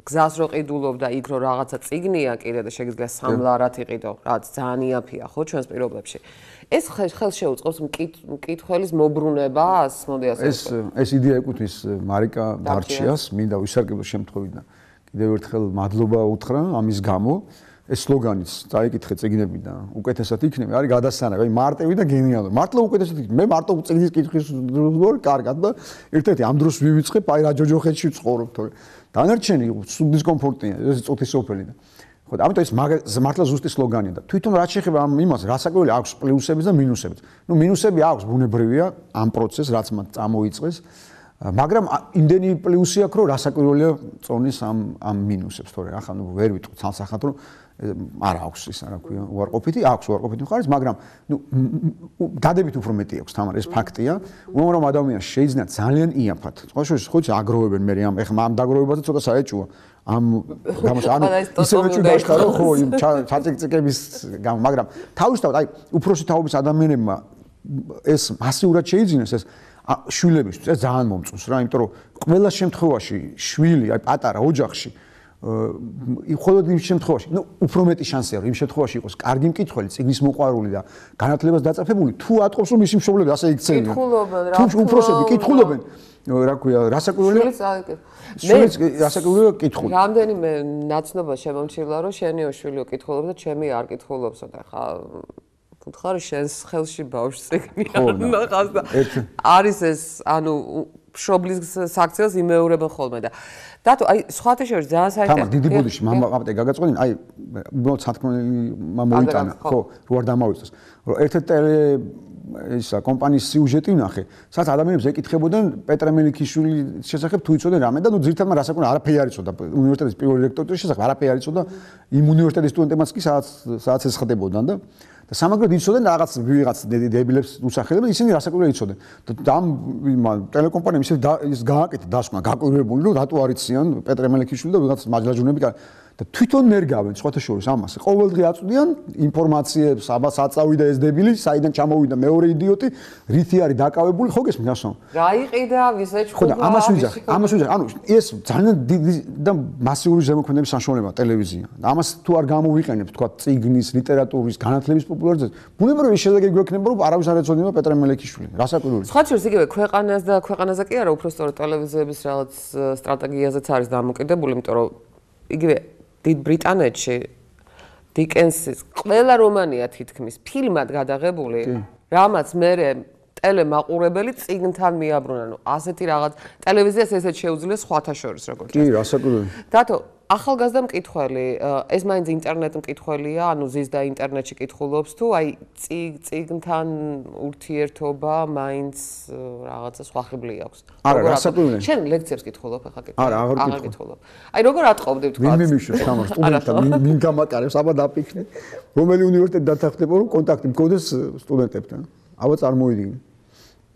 გზას რო ყიდულობ და იქ რო რაღაცა წიგნია კიდე და შეგიძლია სამლარად იყიდო, რაც ძალიან იაფია ხო ჩვენს პირობებში. ეს ხელს შეუწყობს მკითხველის მობრუნებას, მოდი ასე ეს იდეა ეკუთვნის მარიკა დარჩიას, მინდა ვისარგებლო შემთხვევით და კიდევ ერთხელ მადლობა უთხრა ამის გამო. ეს სლოგანიც წაიკითხე წიგნები და უკეთესად იქნება, არის გადასანა, აი მარტივი და გენიალური. მართლა უკეთესად იქნება. მე მარტო წიგნის კითხვის დროს კარგად და ერთ-ერთი ამ დროს ვივიწყებ, აი რა ჯოჯოხეთში ვცხოვრობ თორე. დანარჩენი დისკომფორტია, ეს წუთის სოფელი და ხო და ამიტომ ეს მართლა ზუსტი სლოგანია და თვითონ რაც შეეხება ამ იმას, რასაკვირველი აქვს პლუსებიც და მინუსებიც. ნუ მინუსები აქვს, ბუნებრივია ამ პროცესს, რაც მათ წამოიწყეს. მაგრამ იმდენი პლუსი აქვს, რომ რასაკვირველია წონის ამ მინუსებს, თორე ახლა ნუ ვერ ვიტყვი ცალსახად, რომ არ აქვს ის რა ქვია, უარყოფითი, აქვს უარყოფითი მხარეც, მაგრამ ნუ დადებით უფრო მეტი აქვს თამარ, ეს ფაქტია. უამრავ ადამიანს შეიძლება ძალიან იაფად. ხოჩი აგროვებენ მე ამ ეხლა ამ დაგროვებაზე ცოტა საეჭვოა. ამ გამოს ანუ ისევე ჭუდაშხა რომ ხო იმ ჩაწიკწიკების გამო, მაგრამ თავისთავად აი უფროსი თაობის ადამიანებმა ეს მასიურად შეიძინეს ეს შვილებისთვის ეს ძალიან მომწონს რა, იმიტომ რომ ყველა შემთხვევაში შვილი, აი პატარა ოჯახში მხოლოდ იმ შემთხვევაში, ნუ უფრო მეტი შანსია რომ იმ შემთხვევაში იყოს კარგი მკითხველი, წიგნის მოყვარული და განათლებას დაწესებული, თუ ატყობს რომ მისი მშობლები ასე იქცევიან. თუ უფროსები კითხულობენ, რა ქვია, რასაკვირველია? შვილიც რასაკვირველია კითხული. რამდენიმე ნაცნობა შემომჩილა რომ შენიო შვილიო კითხულობს და ჩემი არ კითხულობსო და ხა ხარ შენს ხელში ბავშვს წიგნი ნახავს და არის ეს ანუ მშობლის საქციელს იმეორებენ ხოლმე და დათო აი სხვათა შორის ძალიან საინტერესო თამარ დიდი ბოდიში მამაპატე გაგაწყობინ აი უბრალოდ სათქმელი მომიტანა ხო რო არ დამავიწყოს რომ ერთ-ერთი ისა კომპანიის სიუჟეტი ვნახე სადაც ადამიანებს ეკითხებოდნენ პეტრე მელიქიშვილის შესახებ თუ იცოდნენ რამე და ნუ ძირითადად რასაკვირველია არაფერი არ იცოდა უნივერსიტეტის პირველი რექტორის შესახებ არაფერი არ იცოდა იმ უნივერსიტეტის სტუდენტებმაც კი სადაც ეს ხდებოდან და სამაგროდ იცოდნენ რაღაც დებილებს უსახელებენ ისინი რასაკვირველია იცოდნენ და ამ ტელეკომპანიამ ისე ის გააკეთა დასკვნა გაკვირვებული რომ რატო არ იციან პეტრე მელიქიშვილი და ვიღაც მაჯლაჯუნები და თვითონ ნერგავენ სხვათა შორის ამას ყოველდღე აწვდიან ინფორმაციებს აბას აწავიდა ეს დებილი საიდან ჩამოვიდა მეორე იდიოტი რითი არის დაკავებული ხო გესმის ასო რა იყიდა ვისეჭქულა ხო და ამას ვიძახ ანუ ეს ძალიან დიდი და მასიური ზემოქმედების საშუალებაა ტელევიზია და ამას თუ არ გამოვიყენებთ თქვა წიგნის ლიტერატურის განათლების პოპულარიზაცია ბუნებრივია შედეგი გვექნება რომ არავის არ ეცოდება პეტრე მელიქიშვილი რასაკვირველია სხვა შორის იგივე ქვეყანას და ქვეყანაზე კი არა უფრო სწორედ ტელევიზიების რაღაც სტრატეგიაზეც არის დამოკიდებული იმიტომ რომ იგივე დიდ ბრიტანეთში დიკენსის ყველა რომანია თითქმის ფილმად გადაღებული, რამაც მერე ტელემაყურებელი წიგნთან მიაბრუნა, ანუ ასეთი რაღაც ტელევიზიას ესეც შეუძლია სხვათა შორის როგორც. კი, რასაკვირველია. დათო, ახალგაზრდა მკითხველი, ეს მაინც ინტერნეტ მკითხველია, ანუ ზის და ინტერნეტში კითხულობს თუ აი წიგნთან ურთიერთობა მაინც რაღაცა სხვახიბლი აქვს. არა, რასაკვირველია. შენ ლექციებს კითხულობ ახლა კითხულობ. არა, აღარ კითხულობ. აი როგორ ატყობდი თქვა? ვინ მიმიშოს თამარ სტუდენტთან, მინ გამატარებს, აბა დაფიქრე. რომელი უნივერსიტეტი დათანხმდება რომ კონტაქტი მქონდეს სტუდენტებთან. აბა წარმოიდგინე.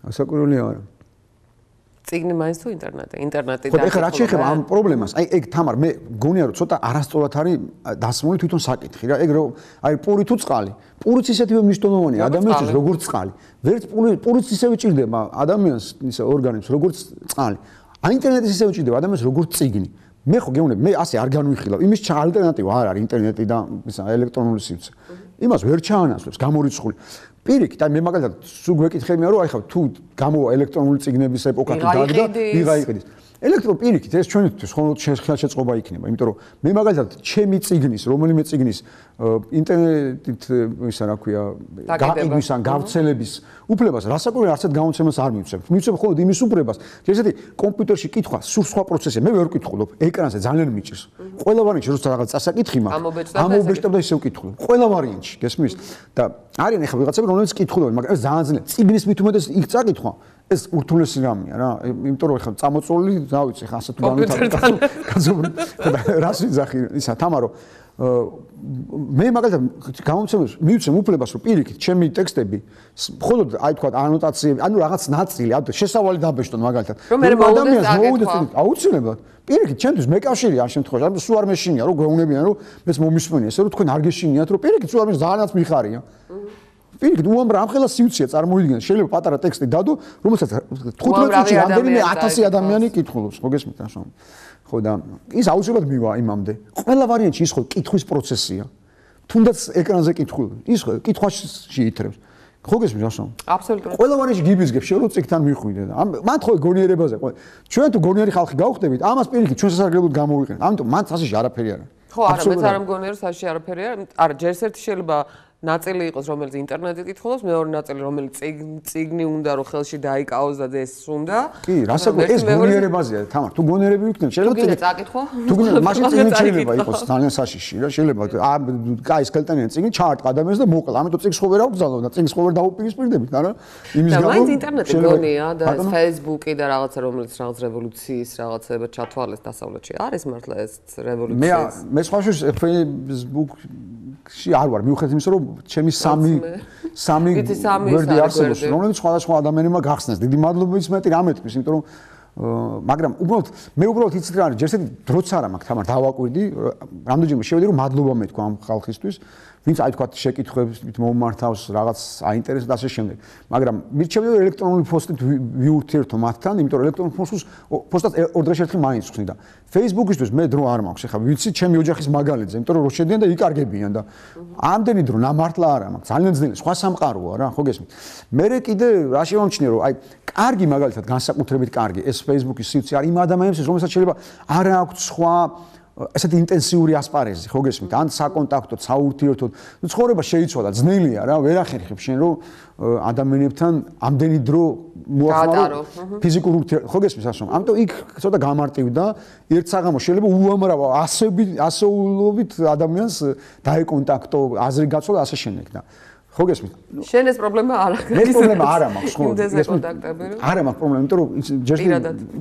რასაკვირველია არა. წიგნი მაინც თუ ინტერნეტი? ინტერნეტი და ეხლა რა შეიძლება ამ პრობლემას? აი ეგ თამარ მე გონია რომ ცოტა არასწორად არის დასმული თვითონ საკითხი რა. ეგ რომ აი პური თუ წყალი. პურიც ისეთივე მნიშვნელოვანია ადამიანისთვის როგორც წყალი. ვერც პურიც ისევე ჭირდება ადამიანს ისე ორგანიზმს როგორც წყალი. აი ინტერნეტის ისევე ჭირდება ადამიანს როგორც წიგნი. მე ხო გეუბნები მე ასე არ განვიხილავ. იმის ალტერნატივა არ არის ინტერნეტი და ისა ელექტრონული სივრცე. იმას ვერ ჩაანაცვლებს გამორიცხული. პირიქით, აი მე მაგალითად სულ გვეკითხებია რომ აი ხა თუ გამოვა ელექტრონული წიგნების ეპოქა თუ დაგდა, ვიღა იყიდის. ელექტრონული პირიქით ეს ჩვენთვის ხოლმე ხელშეწყობა იქნება, იმიტომ რომ მე მაგალითად ჩემი წიგნის, რომელიმე წიგნის ინტერნეტით ისა რა ქვია, გაყიდვის ან გავრცელების უფლებას რასაკვირველია არცეთ გამოცემას არ მივცემ. მივცემ მხოლოდ იმის უფლებას, რომ ესეთი კომპიუტერში კითხვა სულ სხვა პროცესია. მე ვერ ვკითხულობ, ეკრანზე ძალიან მიჭირს. ყველა ვარიანტში როცა რაღაც წასაკითხი მაქვს, ამობეჭდებ და ისე ვკითხულობ. ყველა ვარიანტში, გესმის? და არიან ახლა ვიღაცები რომელიც კითხულობენ, მაგრამ ეს ძალიან ძლიერ. წიგნის მით უმეტეს იქ წაკითხვა, ეს ურთულესი რამეა რა. იმიტომ რომ ახლა წამოწოლილი, რა ვიცი, ახლა ასე თუ განვითარდება. რას ვიძახი ისა თამარო მე მაგალითად გამომცემლებს მივცემ უფლებას რომ პირიქით ჩემი ტექსტები მხოლოდ აი თქვა ანოტაციები ანუ რაღაც ნაწილი ანუ შესავალი დაბეჭდონ მაგალითად რომ ადამიანს მოუდეს აუცილებლად პირიქით ჩემთვის მეკავშირია ამ შემთხვევაში ანუ სულ არ მეშინია რომ გვეუბნებიან რომ მეც მომისმენია ესე რომ თქვენ არ გეშინიათ რომ პირიქით სულ არ მე ძალიანაც მიხარია პირიქით უამრავ ამხელა სიუცია წარმოიდგინეთ შეიძლება პატარა ტექსტი დადო რომელსაც 15 წუთში რამდენიმე 1000 ადამიანი კითხულობს ხო გესმით ასე ხო და ის აუცილებლად მივა იმამდე. ყველა ვარიანტში ის ხო კითხვის პროცესია. თუნდაც ეკრანზე კითხული. ის ხო კითხვაში ითრებს. ხო გესმის ასე? აბსოლუტურად. ყველა ვარიანტში გიბიზგებს შენ რომ წიგნთან მიხვიდე და მან ხო გონიერებაზე. ჩვენ თუ გონიერი ხალხი გავხდებით, ამას პირიქით ჩვენ სასარგებლოდ გამოვიყენებთ. ამიტომ მან წასში არაფერი არა. ხო, არა, მეც არ მგონია, რომ საში არაფერი არ. არა, ჯერს ერთი შეიძლება ნაწილი იყოს, რომელიც ინტერნეტით კითხულობს, მეორე ნაწილი, რომელიც წიგნი უნდა რომ ხელში დაიკავოს და ეს უნდა. კი, რასაკვირველია, ეს გონიერებაზეა, თამარ, თუ გონიერები ვიქნებ, შეიძლება წაკითხო. თუ გინდა, მაშინ წიგნი შეიძლება იყოს ძალიან საშიში რა, შეიძლება კაი სკელტენიანი წიგნი ჩაარტყა ადამიანს და მოკლა. ამიტომ წიგს ხო ვერ აღვგზავნო და წიგს ხო ვერ დაუპირისპირდებით, არა? იმის გამო. და მაინც ინტერნეტი გონია და ეს Facebook-ი და რაღაცა რომელიც რაღაც რევოლუციის რაღაცება ჩათვალეს დასავლეთში. არის მართლა ეს რევოლუცია? მე სხვა შორის Facebook-ში არ ვარ, მიუხედავად იმისა, რომ ჩემი სამი გვერდი არსებობს, რომელიც სხვადასხვა ადამიანებმა გახსნეს. დიდი მადლობა ის მეტი რამეთქვის, იმიტომ რომ მაგრამ მე უბრალოდ იცით რა არის, ჯერ ესეთი დროც არ მაქვს, თამარ დავაკვირდი, რამდენჯერმე შევედი რომ მადლობა მეთქვა ამ ხალხისთვის, ვინც აი თქვა შეკითხვებით მომართავს, რაღაც აინტერესებს და ასე შემდეგ. მაგრამ მირჩევდი რომ ელექტრონული პოსტით ვიურთიერთო მათთან, იმიტომ რომ ელექტრონულ პოსტად ორ დღეში ერთხელ მაინც ხსნი და Facebook-ისთვის მე დრო არ მაქვს. ეხლა ვიცი ჩემი ოჯახის მაგალითზე, იმიტომ რომ რო შედიან და იკარგებიან და ამდენი დრო ნამართლა არ მაქვს. ძალიან ძნელი, სხვა სამყაროა რა, ხო გესმით? მე კიდე რა შემომჩნია რომ აი კარგი მაგალითად განსაკუთრებით კარგი ეს Facebook-ის სივრცე არის იმ ადამიანებს, რომელსაც შეიძლება არ აქვს სხვა ესეთი ინტენსიური ასპარეზი, ხო გესმით? ან საკონტაქტოდ, საურთიერთოდ, ნუ ცხოვრება შეიცვალა, ძნელია რა, ვერ ახერხებ შენ რომ ადამიანებთან ამდენი დრო მოახმარო ფიზიკურ ურთიერთობას, ხო გესმის ასე? ამიტომ იქ ცოტა გამარტივდა, ერთ საღამოს შეიძლება უამრავ ასეულობით ადამიანს დაეკონტაქტო, აზრი გაცვალა ასე შემდეგ და ხო გესმით? შენ ეს პრობლემა არ აქვს. მე პრობლემა არ მაქვს, ხო? ეს კონტაქტები. არ მაქვს პრობლემა, იმიტომ რომ ჯერ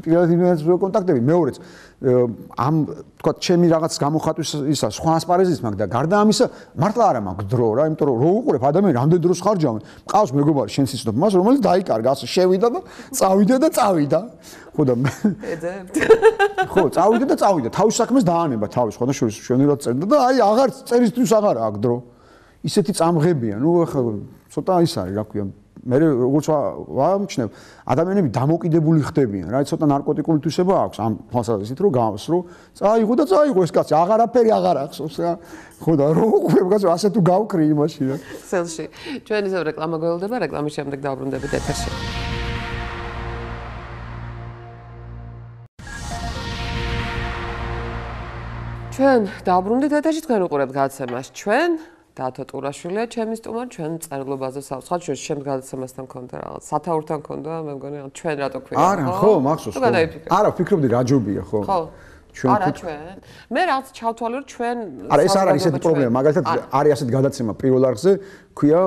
პირადად კონტაქტები, მეორეც ამ თქვა ჩემი რაღაც გამოხატვის ისა სხვა ასპარეზის მაქვს და გარდა ამისა მართლა არ მაქვს დრო რა, იმიტომ რომ რო უყურებ ადამიანი რამდენი დროს ხარჯავენ. მყავს მეგობარი შენ სიცნობ მას, რომელიც დაიკარგა, ასე შევიდა და წავიდა. ხო და ეძებთ. ხო, წავიდა. თავის საქმეს დაანება თავის, ხო და შენერად წერდა და აი აღარ წერისთვის აღარ აქვს დრო. ისეთი წამღებია, ნუ ახლა ცოტა ის არის, რა ქვია, მე როგორც ვამჩნევ, ადამიანები დამოკიდებული ხდებიან, რა, ცოტა ნარკოტიკული თვისება აქვს ამ თვალსაზრისით, რომ გავსრო, წაიღო ეს კაცი, აღარაფერი აღარ ახსოვს რა. ხო და რო უყურებ კაცო, ასე თუ გავკრი იმაში რა. სელში. ჩვენ ისევ რეკლამა გველდება, რეკლამის შემდეგ დავბრუნდებით ეთერში. ჩვენ დავბრუნდით ეთერში, თქვენ უყურებთ გადაცემას. ჩვენ დათო ტურაშვილია, ჩემი სტუმარი, ჩვენ წერილობაზე სხვა შორის შემდგ გადაცემასთან მქონდა რაღაც. სათაურთან მქონდა, მე მგონი ჩვენ რატო ქვია, ხო? არა, ხო, მახსოვს. არა, ვფიქრობდი რა ჯობია, ხო? ხო. არა ჩვენ. მე რაღაც ჩავთვალე რომ ჩვენ არა, ეს არ არის ესეთი პრობლემა, მაგალითად არის ასეთი გადაცემა პირველ არხზე, ქვია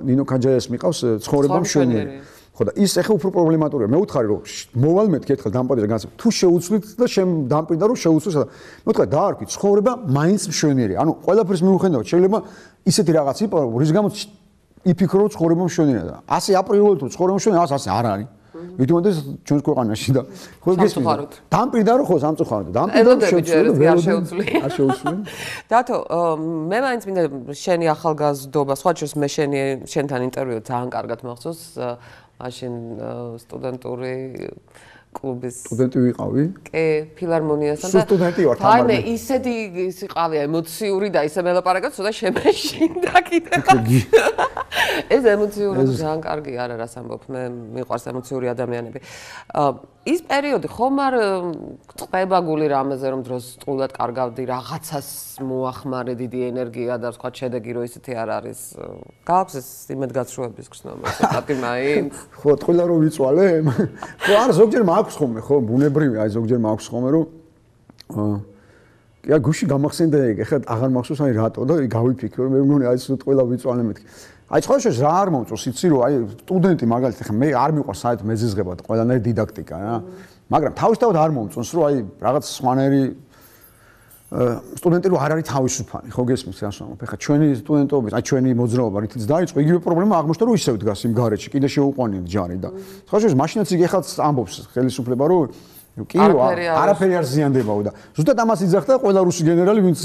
ნინო კანჯაიას მიყავს ცხოვრება მშვენიერი. ხო და ის ახლა უფრო პრობლემატურია. მე ვუთხარი რომ მოვალ მეთქი ერთხელ დამპირდა განსაკუთრებით. თუ შეუცვლით და შენ დამპირდა რომ შეუცვლით და მე ვუთხარი დაარქვი ცხოვრება მაინც მშვენიერია. ანუ ყველაფერს მიუხედავად შეიძლება ისეთი რაღაც იყო რის გამოც იფიქრო რომ ცხოვრება მშვენიერია და ასე აპრიორულად რომ ცხოვრება მშვენიერია ასე არ არის. ვიდრე ჩვენს ქვეყანაში და ხო გესმით. დამპირდა რომ ხო სამწუხაროდ დამპირდა რომ შეუცვლი. არ შეუცვლი. დათო, მე მაინც მინდა შენი ახალგაზრდობა, სხვა შორის მე შენთან ინტერვიუ ძალიან კარგად მახსოვს. მაშინ სტუდენტური კლუბის სტუდენტი ვიყავი? კი, ფილარმონიასთან და სტუდენტი ვარ თამარ. მე ისეთი ის იყავი ემოციური და ისე მელაპარაკეთ, ცოტა შემეშინდა კიდევ. ეს ემოციური ძალიან კარგი არა რას ამბობ, მე მიყვარს ემოციური ადამიანები. ის პერიოდი ხომ არ წყვება გული რამეზე რომ დროს სტულად კარგავდი, რაღაცას მოახმარე დიდი ენერგია და სხვა შედეგი რო ისეთი არ არის. გაქვს ეს იმედგაცრუების გრძნობა, ცოტა მაინც. ხო, ტყუილა რო ვიწვალე? ხო, არა, ზოგჯერ მაქვს ხოლმე, ხო, ბუნებრივია, აი ზოგჯერ მაქვს ხოლმე რომ კი, გუში გამახსენდა ეგ, ეხლა აღარ მახსოვს აი რატო და გავიფიქრე, მე მგონი აი ეს ტყუილა ვიწვალე მეთქი. აი სხვა შორის რა არ მომწონს, იცი რომ აი სტუდენტი მაგალითად ხა მე არ მიყვარს საერთოდ მეზიზღება და ყველანაირი დიდაქტიკა რა. მაგრამ თავისთავად არ მომწონს რომ აი რაღაც სხვანაირი სტუდენტი რომ არ არის თავისუფალი, ხო გესმის რა ვამბობ? ეხლა ჩვენი სტუდენტობის, აი ჩვენი მოძრაობა რითიც დაიწყო, იგივე პრობლემა აღმოჩნდა რომ ისევ დგას იმ გარეჯში, კიდე შეუყვანილი ჯარი და სხვა შორის მაშინაც იგი ეხლა ამბობს ხელისუფლება რომ კი არაფერი არ ზიანდებაო და ზუსტად ამას იძახდა ყველა რუსი გენერალი ვინც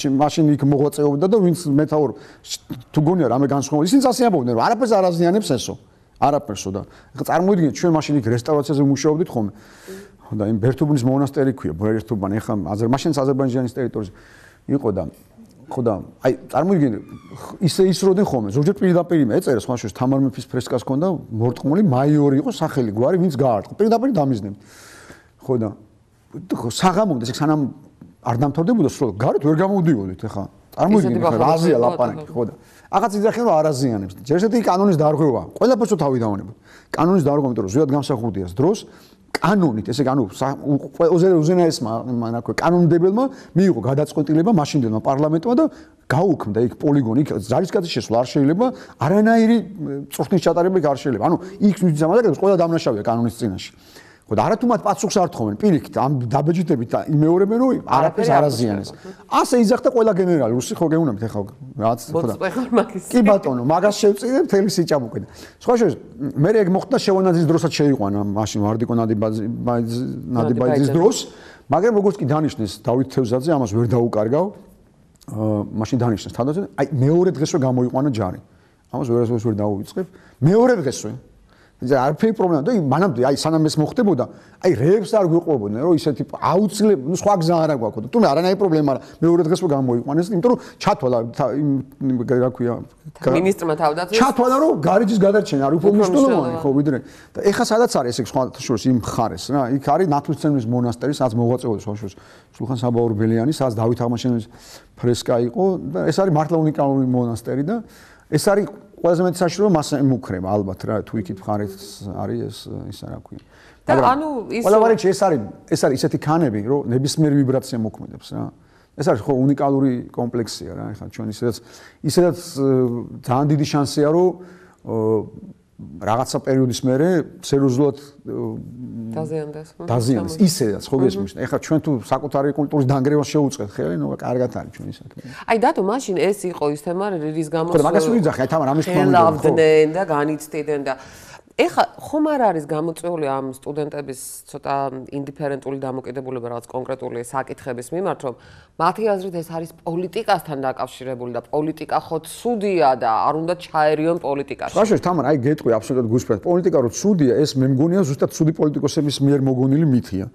მაშინ იქ მოღვაწეობდა და ვინც მეთაურ თუ გონია რამე განსხვავებული ისინი ასე ამბობდნენ რომ არაფერს არ აზიანებს ესო არაფერსო და ეხლა წარმოიდგინეთ ჩვენ მაშინ იქ რესტავრაციაზე ვმუშაობდით ხოლმე და იმ ბერთუბნის მონასტერი ქვია ბერთუბანი ეხლა მაშინ აზერბაიჯანის ტერიტორიაზე იყო და ხო და აი წარმოიდგინე ისე ისროდნენ ხოლმე ზოგჯერ პირდაპირ ეწერა სხვა შორის თამარ მეფის ფრესკას ჰქონდა მორტყმული მაიორი იყო სახელი გვარი ვინც გაარტყა პირდაპირ დამიზნებთ ხო და საღამომდე ეს სანამ არ დამთავრდებოდა სრულად, გარეთ ვერ გამოვდიოდით ახლა. წარმოიდგინე ხა რაზია ლაპარაკი, ხო და აღაც იძახენ რომ არაზიანებს. ჯერ ესეთი კანონის დარღვევა, ყველაფერს თავი დავანებოთ. კანონის დარღვევა, იმიტომ რომ ზუსტად გამსახურდიას დროს კანონით, ესე ანუ უზენაესმა კანონმდებელმა მიიღო გადაწყვეტილება მაშინდელმა პარლამენტმა და გაუქმდა იქ პოლიგონი, იქ ჯარისკაცის შესვლა არ შეიძლება, არანაირი წვრთნის ჩატარება არ შეიძლება. ანუ იქ მიზამადაკებს ყველა დამნაშავეა კანონის წინაშე. ხო და არათუ მათ პასუხს არ თხოვენ, პირიქით ამ დაბეჭდებით იმეორებენ რომ არაფერს არ აზიანეს. ასე იძახდა ყველა გენერალი, რუსი ხო გეუნებით ახლა რაც ხო და კი ბატონო, მაგას შევწირე მთელი სიჭაბუკე და სხვა შორის მე ეგ მოხდა შევანაძის დროსაც შეიყვანა მაშინ ვარდიკო ნადიბაიძის დროს, მაგრამ როგორც კი დანიშნეს დავით თევზაძე ამას ვერ დაუკარგავ, მაშინ დანიშნეს თავდაცვით, აი მეორე დღესვე გამოიყვანა ჯარი. ამას ვერასდროს ვერ დაუვიწყებ. მეორე დღესვე არაფერი პრობლემა და მანამდე აი სანამ ეს მოხდებოდა აი რეებს არ გვიყვებოდნენ რომ ისეთი აუცილებლად ნუ სხვა გზა არ აქვს თუმცა არანაირი პრობლემა არა მეორე დღესვე გამოიყვანეს იმიტომ რომ ჩათვალა რა ქვია მინისტრმა თავდაცვის ჩათვალა რომ გარეჯის გადარჩენა არ უფრო მნიშვნელოვანი ხო ვიდრე და ეხა სადაც არის ეს სხვა შორის იმ ხარეს რა იქ არის ნათლისმცემლის მონასტერი სადაც მოღვაწეობდა სხვა შორის სულხან საბაურბელიანი სადაც დავით აღმაშენებლის ფრესკა იყო და ეს არის მართლა უნიკალური მონასტერი და ეს არის ყველაზე მეტი საშუალო მას ემუქრება ალბათ რა თუ იქით მხარეთ არის ეს რა ქვია და ანუ ის ყველაფერი ეს არის ისეთი ქანები რომ ნებისმიერ ვიბრაცია მოქმედებს რა ეს არის ხო უნიკალური კომპლექსია რა ეხლა ჩვენ ისედაც ძალიან დიდი შანსია რომ რაღაცა პერიოდის მერე სერიოზულად დაზიანდეს ისედაც ხო გესმის ეხლა ჩვენ თუ საკუთარი კულტურის დანგრევას შევუწყეთ ხელი ნუ კარგად არის ჩვენი საქმე აი დათო მაშინ ეს იყო ის თემა რის გამოც ხო მაგას ვიძახე აი თამარ ამის თქმა უნდა ელავდნენ და განიცდიდნენ და ეხლა ხომ არ არის გამოწვეული ამ სტუდენტების ცოტა ინდიფერენტული დამოკიდებულება რაღაც კონკრეტული საკითხების მიმართ რომ მათი აზრით ეს არის პოლიტიკასთან დაკავშირებული და პოლიტიკა ხო ცუდია და არ უნდა ჩაერიონ პოლიტიკაში. ხაშეშ თამარ აი გეტყვი აბსოლუტურად გულსფრად პოლიტიკა რო ცუდია ეს მე მგონია ზუსტად ცუდი პოლიტიკოსების მიერ მოგონილი მითია.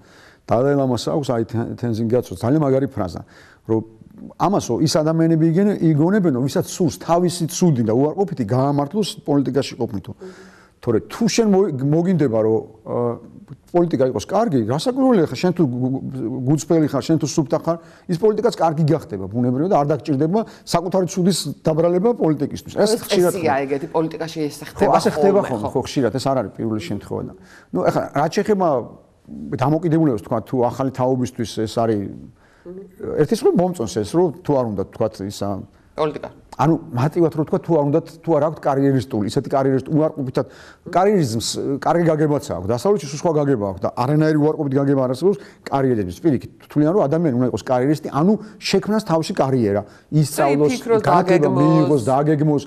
დალაი ლამას აქვს აი თენზინ გაცო ძალიან მაგარი ფრაზა რომ ამასო ის ადამიანები იგონებენო ვისაც სულს თავისი ცუდი და უარყოფითი გაამართლოს პოლიტიკაში ყოფნითო. თორე თუ შენ მოგინდება რომ პოლიტიკა იყოს კარგი, რასაკვირველია ხა შენ თუ გუწფელი ხარ, შენ თუ სუფთა ხარ, ის პოლიტიკაც კარგი გახდება ბუნებრივად და არ დაგჭირდება საკუთარი ცუდის დაბრალება პოლიტიკისთვის. ეს ხშირად ეგეთი პოლიტიკაში ეს ხდება. ხო, ასე ხდება ხოლმე, ხო, ხშირად ეს არ არის პირველი შემთხვევა და. ნუ ეხლა რაც შეეხება დამოკიდებულებას თქვა თუ ახალი თაობისთვის ეს არის ერთის რომ მომწონს ეს რომ თუ არ უნდა თქვა ისა პოლიტიკა ანუ მარტივად რო თქვა თუ არ უნდა თუ არ აქვს კარიერისტული ისეთი კარიერისტული უარყოფითად კარიერიზმს კარგი გაგებაც აქვს დასავლეთში სხვა გაგება აქვს და არანაირი უარყოფითი გაგება არ არსებობს კარიერების პირიქით თვლიან რომ ადამიანი უნდა იყოს კარიერისტი ანუ შექმნას თავისი კარიერა ისწავლოს გაგება მიიღოს დააგეგმოს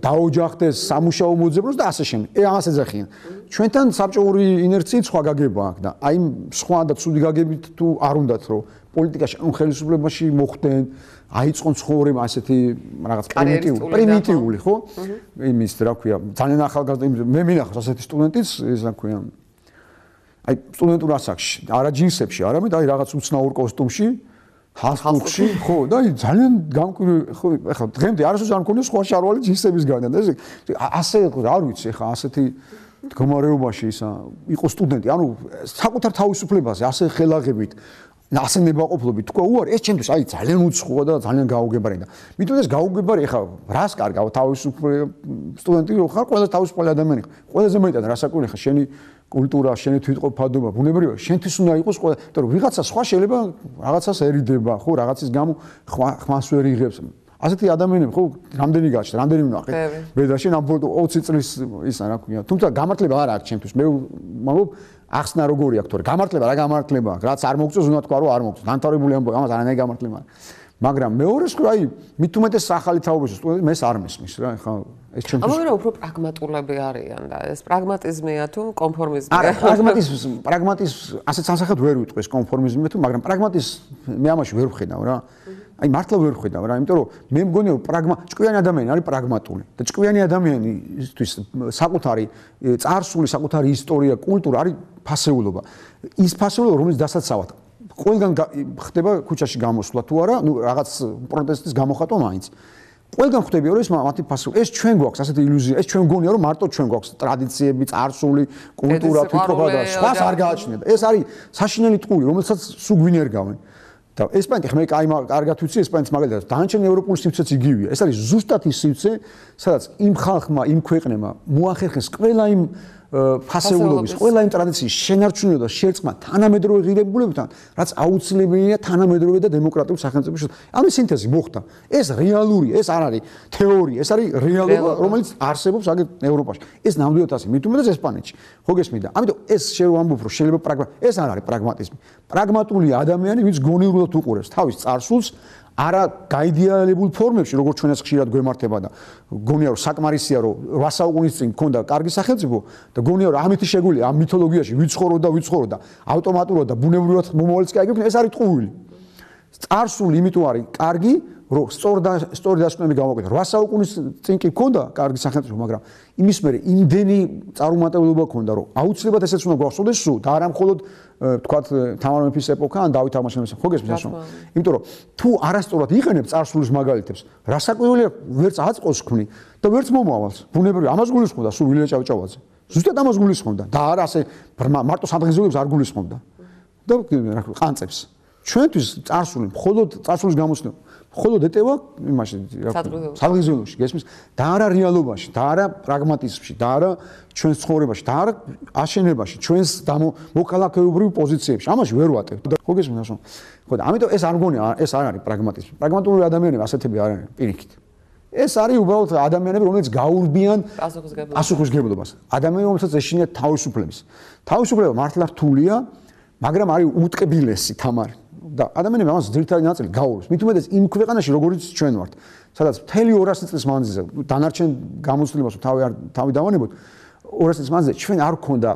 დაოჯახდეს სამუშაო მოძებნოს და ასე შემდეგ ამას ეძახიან ჩვენთან საბჭოური ინერციით სხვა გაგება აქვს და აი სხვა და ცუდი გაგებით თუ არ უნდათ რომ პოლიტიკაში ან ხელისუფლებაში მოხვდნენ აიწყონ ცხოვრება ასეთი რაღაც პრიმიტიული ხო? იმის რა ქვია, ძალიან ახალგაზრდა მე მინახავს ასეთი სტუდენტიც, ეს რა ქვია. აი სტუდენტურ ასაკში, არა ჯინსებში, არამედ აი რაღაც უცნაურ კოსტუმში, ჰალსტუქში, ხო, და აი ძალიან გამკვირვებელი, ხო, ეხლა დღემდე არასდროს არ მქონია სხვა შარვალი ჯინსებისგან და ეს ასე არ ვიცი, ეხლა ასეთი მდგომარეობაში ისა იყო სტუდენტი, ანუ საკუთარ თავისუფლებაზე ასე ხელაღებით ასე ნებაყოფლობით თქვა უარი ეს ჩემთვის აი ძალიან უცხოა და ძალიან გაუგებარი და მithom ეს გაუგებარი ხა რას კარგავ თავისუფლება სტუდენტი ხარ ყველა თავისუფალი ადამიანი ხარ ყველაზე მეტად რასაკვირველი ხა შენი კულტურა შენი თვითყოფადობა ბუნებრივია შენთვის უნდა იყოს ყველა იმიტომ რომ ვიღაცა სხვა შეიძლება რაღაცას ერიდება ხო რაღაცის გამო ხმას ვერ იღებს ასეთი ადამიანები ხო რამდენი გაჩნდა რამდენი ვნახე ბედაში ამ 20 წლის ისა რა ქვია თუმცა გამართლება არ აქვს ჩემთვის მე მაგობ ახსნა როგორი აქვს თორე გამართლება რა გამართლება აქვს რაც არ მოგწონს უნდა თქვა რომ არ მოგწონს განთავრებული ამბავი ამას არანაირი გამართლება მაგრამ მეორეს ხო აი მით უმეტეს ახალი თაობებში სტუდენტი მე არ მესმის რა ხა ეს ჩემთვის ამავე უფრო პრაგმატულები არიან და ეს პრაგმატიზმია თუ კონფორმიზმია არა პრაგმატიზმ ასეთ სამსახად ვერ ვიტყვი ეს კონფორმიზმია თუ მაგრამ პრაგმატიზმ მე ამაში ვერ ვხედავ რა აი მართლა ვერ ვხედავ რა იმიტომ რომ მე მგონია ჭკვიანი ადამიანი არის პრაგმატული და ჭკვიანი ადამიანისთვის საკუთარი წარსული საკუთარი ისტორია კულტურა არის ფასეულობა ის ფასეულობა რომელიც დასაცავად ყველგან ხდება ქუჩაში გამოსვლა თუ არა ნუ რაღაც პროტესტის გამოხატვა მაინც ყველგან ხდებია რომ ეს მათი ფასეულობა ეს ჩვენ გვაქვს ასეთი ილუზია ეს ჩვენ მგონია რომ მარტო ჩვენ გვაქვს ტრადიციები წარსული კულტურა თვითყოფადობა სხვას არ გააჩნია ეს არის საშინელი ტყუილი რომელსაც სულ გვინერგავენ და ესპანეთი ხმე კარგად ვიცი ესპანეთის მაგალითად დანარჩენი ევროპული სივრცეც იგივეა. ეს არის ზუსტად ის სივრცე, სადაც იმ ხალხმა, იმ ქვეყნებმა მოახერხეს ყველა იმ ფასეულობის, ყველა იმ ტრადიციის შენარჩუნება და შერწყმა თანამედროვე ღირებულებებთან, რაც აუცილებელია თანამედროვე და დემოკრატიულ სახელმწიფოში. ამის სინთეზი მოხდა. ეს რეალური, ეს არ არის თეორია, ეს არის რეალობა, რომელიც არსებობს აგერ ევროპაში. ეს ნამდვილად ასე, მით უმეტეს ესპანეთში. ხო გესმით და ამიტომ ეს შევამბობ, რომ შეიძლება ეს არ არის პრაგმატიზმი. პრაგმატული ადამიანი, ვინც გონივრულად უყურებს თავის წარსულს, არა გაიდეალებულ ფორმებში, როგორც ჩვენაც ხშირად გვემართება და გონია რომ საკმარისია რომ 8 საუკუნის წინ მქონდა კარგი სახელმწიფო და გონია რომ ამით შეგვიძლია ამ მითოლოგიაში ვიცხოვრო და ავტომატურად და ბუნებრივად მომავალიც გაიგებთ, ეს არის ტყუილი. წარსული იმიტომ არის კარგი, რომ სწორი დასკვნები გამოვაკეთა. 8 საუკუნის წინ კი მქონდა კარგი სახელმწიფო, მაგრამ იმის მერე იმდენი წარუმატებლობა მქონდა, რომ აუცილებლად ესეც უნდა გვახსოვდეს სულ და არა მხოლოდ თქვათ თამარ მეფის ეპოქა ან დავით აღმაშენებლის. ხო გესმის ასე? იმიტომ რომ თუ არასწორად იყენებ წარსულის მაგალითებს, რასაკვირველია ვერც აწყოს ხმნი და ვერც მომავალს. ბუნებრივია, ამას გულისხმობდა სულ ვილია ჭავჭავაძე. ზუსტად ამას გულისხმობდა და არა ასე მარტო სადღეგრძელოებს არ გულისხმობდა. და რა ქვია, ყანწებს. ჩვენთვის წარსული მხოლოდ წარსულის გამოსცემა მხოლოდ ეტევა იმაში სადღეგრძელოში გესმის და არა რეალობაში და არა პრაგმატიზმში და არა ჩვენს ცხოვრებაში და არა აშენებაში ჩვენს მოქალაქეობრივ პოზიციებში ამაში ვერ ვატევთ ხო გესმის ასე ხო და ამიტომ ეს არ მგონია ეს არ არის პრაგმატიზმი პრაგმატული ადამიანები ასეთები არ არიან პირიქით ეს არის უბრალოდ ადამიანები რომელიც გაურბიან პასუხისგებლობას ადამიანები რომელსაც ეშინიათ თავისუფლება მართლა რთულია მაგრამ არის უტკბილესი თამარი და ადამიანები ამას ძირითადი ნაწილი გაურბს. მით უმეტეს იმ ქვეყანაში, როგორიც ჩვენ ვართ, სადაც მთელი 200 წლის მანძილზე დანარჩენ გამოცდილებას თავი დავანებოთ, 200 წლის მანძილზე ჩვენ არ გქონდა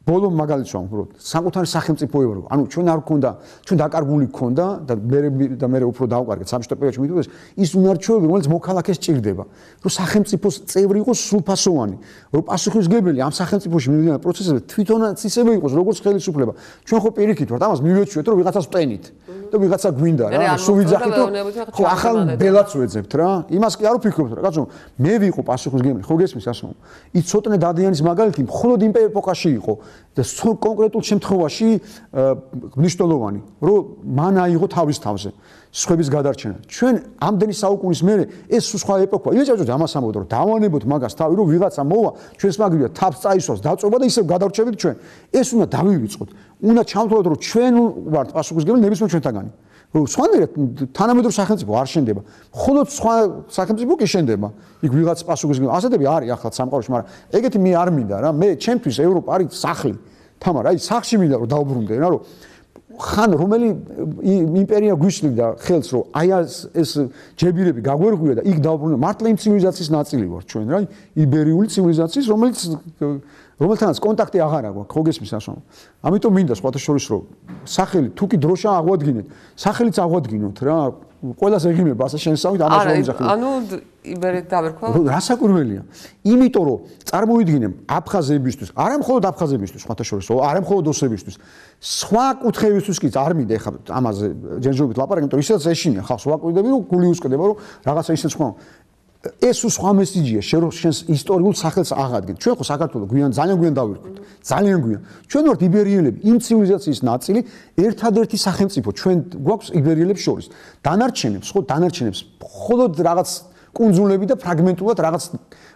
ბოლო მაგალითს ვამბობ, საკუთარი სახელმწიფო ევროპა. ანუ ჩვენ არ გქონდა, ჩვენ დაკარგული გქონდა და მე უფრო დავყარგეთ სამშობლო პერიოდში მით უმეტეს ის უნარჩვევები, რომელიც მოქალაქეს ჭირდება, რომ სახელმწიფოს წევრი იყოს სრულფასოვანი, რომ პასუხისმგებელი ამ სახელმწიფოში მიმდინარე პროცესებზე თვითონაც ისევე იყოს, როგორც ხელისუფლება. ჩვენ ხო პირიქით ვართ, ამას მივეჩვიეთ, რომ ვიღაცას ვტენით და ვიღაცა გვინდა რა, სულ ვიძახით, ხო ახალ ბელაც ვეძებთ რა. იმას კი არ ვფიქრობთ რა, კაცო, მე ვიყო პასუხისმგებელი, ხო გესმის ასე? ის ცოტნე დადიანის მაგალითი მხოლოდ იმ ეპოქაში იყო და კონკრეტულ შემთხვევაში მნიშვნელოვანი, რომ მან აიღო თავის თავზე სხვების გადარჩენა. ჩვენ ამდენი საუკუნის მერე ეს სხვა ეპოქა. ილეჭავჭავ ამას ამბობთ, რომ დავანებოთ მაგას თავი, რომ ვიღაცა მოვა, ჩვენს მაგრია თავს წაისვას, დაწובה და ისევ გადარჩებით ჩვენ. ეს უნდა დავივიწყოთ. უნდა ჩავთვალოთ, რომ ჩვენ ვართ პასუხისმგებელი ნებისმიერ ჩვენთაგანი. რომ სხვანაირად თანამედროვე სახელმწიფო არ შენდება. მხოლოდ სხვა სახელმწიფო კი შენდება. იქ ვიღაც პასუხისმგებელი. ასეთები არის ახლა სამყაროში, მაგრამ ეგეთი მე არ მინდა რა. მე ჩემთვის ევროპა არის სახლი. თამარ, აი სახლში მინდა რომ დავბრუნდე რა, რომ ხან რომელი იმპერია გვიშლიდა ხელს, რომ აი ეს ჯებირები გაგვერღვია და იქ დავბრუნდა. მართლა იმ ცივილიზაციის ნაწილი ვარ ჩვენ რა, იბერიული ცივილიზაციის, რომელთანაც კონტაქტი აღარ აქვს, ხო გესმის ასე? ამიტომ მინდა სხვათა შორის რომ სახელი თუ კი დროშა აღვადგინეთ, სახელიც აღვადგინოთ რა. ყველას ეგიმება ასე შენსავით ამას ვამიძახი. ანუ იბერეთ დავერქვა? რასაკვირველია. იმიტომ რომ წარმოვიდგინე აფხაზებისთვის, არა მხოლოდ აფხაზებისთვის, სხვათა შორის, არა მხოლოდ ოსებისთვის, სხვა კუთხეებისთვის კი არ მინდა ეხლა ამაზე ჯერჯერობით ლაპარაკი, იმიტომ რომ ისაც ეშინია ხალხს ვაკვირდები, რომ გული უსკდება, რომ რაღაცა ისეთ სხვა ეს სხვა მესიჯია შენს ისტორიულ სახელს აღადგენ. ჩვენ ხო საქართველოს ძალიან გვიან დავირქვით. ძალიან გვიან. ჩვენ ვართ იბერიელები, იმ ცივილიზაციის ნაწილი, ერთადერთი სახელმწიფო ჩვენ გვაქვს იბერიელებს შორის. დანარჩენებს მხოლოდ რაღაც კუნძულები და ფრაგმენტულად რაღაც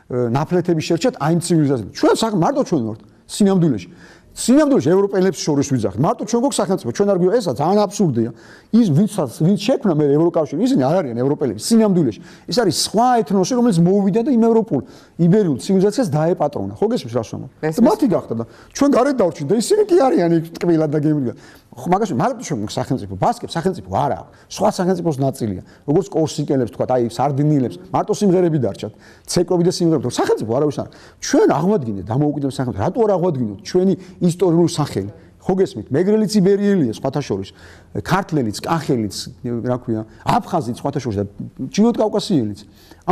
ნაფლეთები შერჩათ აი იმ ცივილიზაციას. ჩვენ მარტო ჩვენ ვართ სინამდვილეში. სინამდვილეში ევროპელებს შორის ვიძახით. მარტო ჩვენ გვაქვს სახელმწიფო, ჩვენ არ გვია ესა ძალიან აბსურდია. ის ვინც შექმნა მე ევროკავშირი, ისინი არ არიან ევროპელები სინამდვილეში. ეს არის სხვა ეთნოსი, რომელიც მოუვიდა და იმ ევროპულ იბერიულ ცივილიზაციას დაეპატრონა. ხო გესმის რას ვამბობ? მათი გახდა და ჩვენ გარეთ დავრჩით და ისინი კი არიან იქ ტკბილად და გემრიელად. ხო მაგაში მარტო ჩვენ გვაქვს სახელმწიფო, ბასკებს სახელმწიფო არ აქვს. სხვა სახელმწიფოს ნაწილია. როგორც კორსიკელებს თქვა, აი სარდინიელებს, მარტო სიმღერები დარჩათ. ცეკვები და სიმღერები, სახელმწიფო არავის არ. ჩვენ აღვადგინეთ დამოუკიდებლად სახელმწიფო. რატო არ აღვადგინოთ ჩვენი ისტორიული სახელი? ხო გესმით, მეგრელიც იბერიელია სხვათა შორის, ქართლელიც, კახელიც, რა ქვია, აფხაზიც სხვათა შორის და ჩინოთ კავკასიელიც.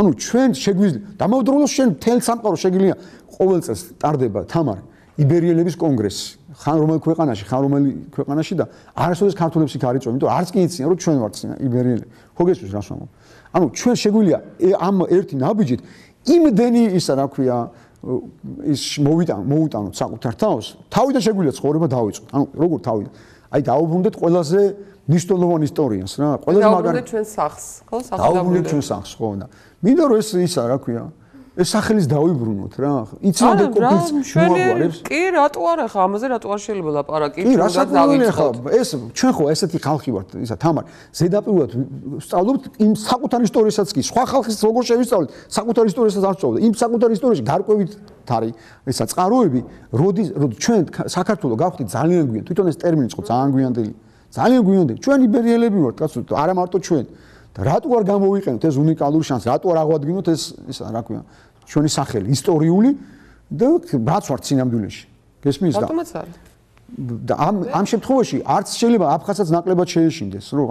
ანუ ჩვენ შეგვიძლია დამავდროულად შენ თელ სამყარო შეგიძლია ყოველ წელს ტარდება თამარ იბერიელების კონგრესი. ხან რომელ ქვეყანაში და არასოდეს ქართულებს იქ არ იწვევენ, იმიტომ არც კი იციან რომ ჩვენ ვართ იბერიელები. ხო გესმის რას ვამბობ? ანუ ჩვენ შეგვიძლია ამ ერთი ნაბიჯით იმდენი ისა რა ქვია ის მოუტანოთ საკუთარ თავს, თავიდან შეგვიძლია ცხოვრება დავიწყოთ. ანუ როგორ თავიდან? აი დაუბრუნდეთ ყველაზე ნიშნულოვან ისტორიას რა. ყველაზე მაგარი ჩვენ სახს, ხო? დაუბრუნდეთ ჩვენ სახს, ხო და. მინდა რომ ეს ისა რა ქვია. ეს სახელის დავიბრუნოთ რა. იცოდე კოპიც მოაგვარებს. კი, რატო არა ხა ამაზე რატო არ შეიძლება ლაპარაკი? კი, რასაც დავიწყო. ეს ჩვენ ხო ესეთი ხალხი ვართ, ისა თამარ. ზედაპირულად სწავლობთ იმ საკუთარ ისტორიასაც კი. სხვა ხალხის როგორ შევისწავლეთ, საკუთარ ისტორიასაც არ სწავლობთ. იმ საკუთარ ისტორიაში გარკვევით არის ისა წყაროები, როდის ჩვენ საქართველოს გავხდით ძალიან გვიან. თვითონ ეს ტერმინი ხო ძალიან გვიანდელი. ძალიან გვიანდელი. ჩვენ იბერიელები ვართ, კაცო, არა მარტო ჩვენ. და რატო არ გამოვიყენოთ ეს უნიკალური შანსი? რატო არ აღვადგინოთ ეს ისა რა ქვია? ჩვენი სახელი ისტორიული და რაც ვართ სინამდვილეში. გესმის და ბატონოც არის. და ამ შემთხვევაში არც შეიძლება აფხაზსაც ნაკლებად შეეშინდეს, რომ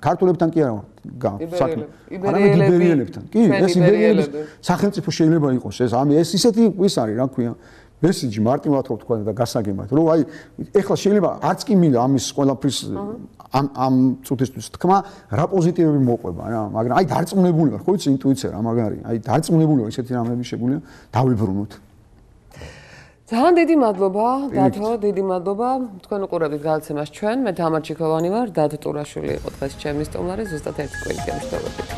ქართველებთან კი არა საქმე. იბერიელებთან. კი, ეს იბერიელების სახელმწიფო შეიძლება იყოს ეს. ეს ისეთი ის არის, რა ქვია? მესიჯი მარტივად ხო თქვა და გასაგებად, რომ აი ეხლა შეიძლება არც კი მინდა ამის ყველაფრის ამ წუთისთვის თქმა, რა პოზიტივები მოყვება რა, მაგრამ აი დარწმუნებული ვარ, ხო იცი ინტუიცია რა მაგარი, აი დარწმუნებული ვარ ისეთი რამეები შეგვიძლია დავიბრუნოთ. ძალიან დიდი მადლობა, დათო, დიდი მადლობა. თქვენ უყურებთ გადაცემას ჩვენ, მე თამარ ჩიქოვანი ვარ, დათო ტურაშვილი იყო დღეს ჩემი სტუმარი, ზუსტად ერთი კვირით გამშვიდობებით.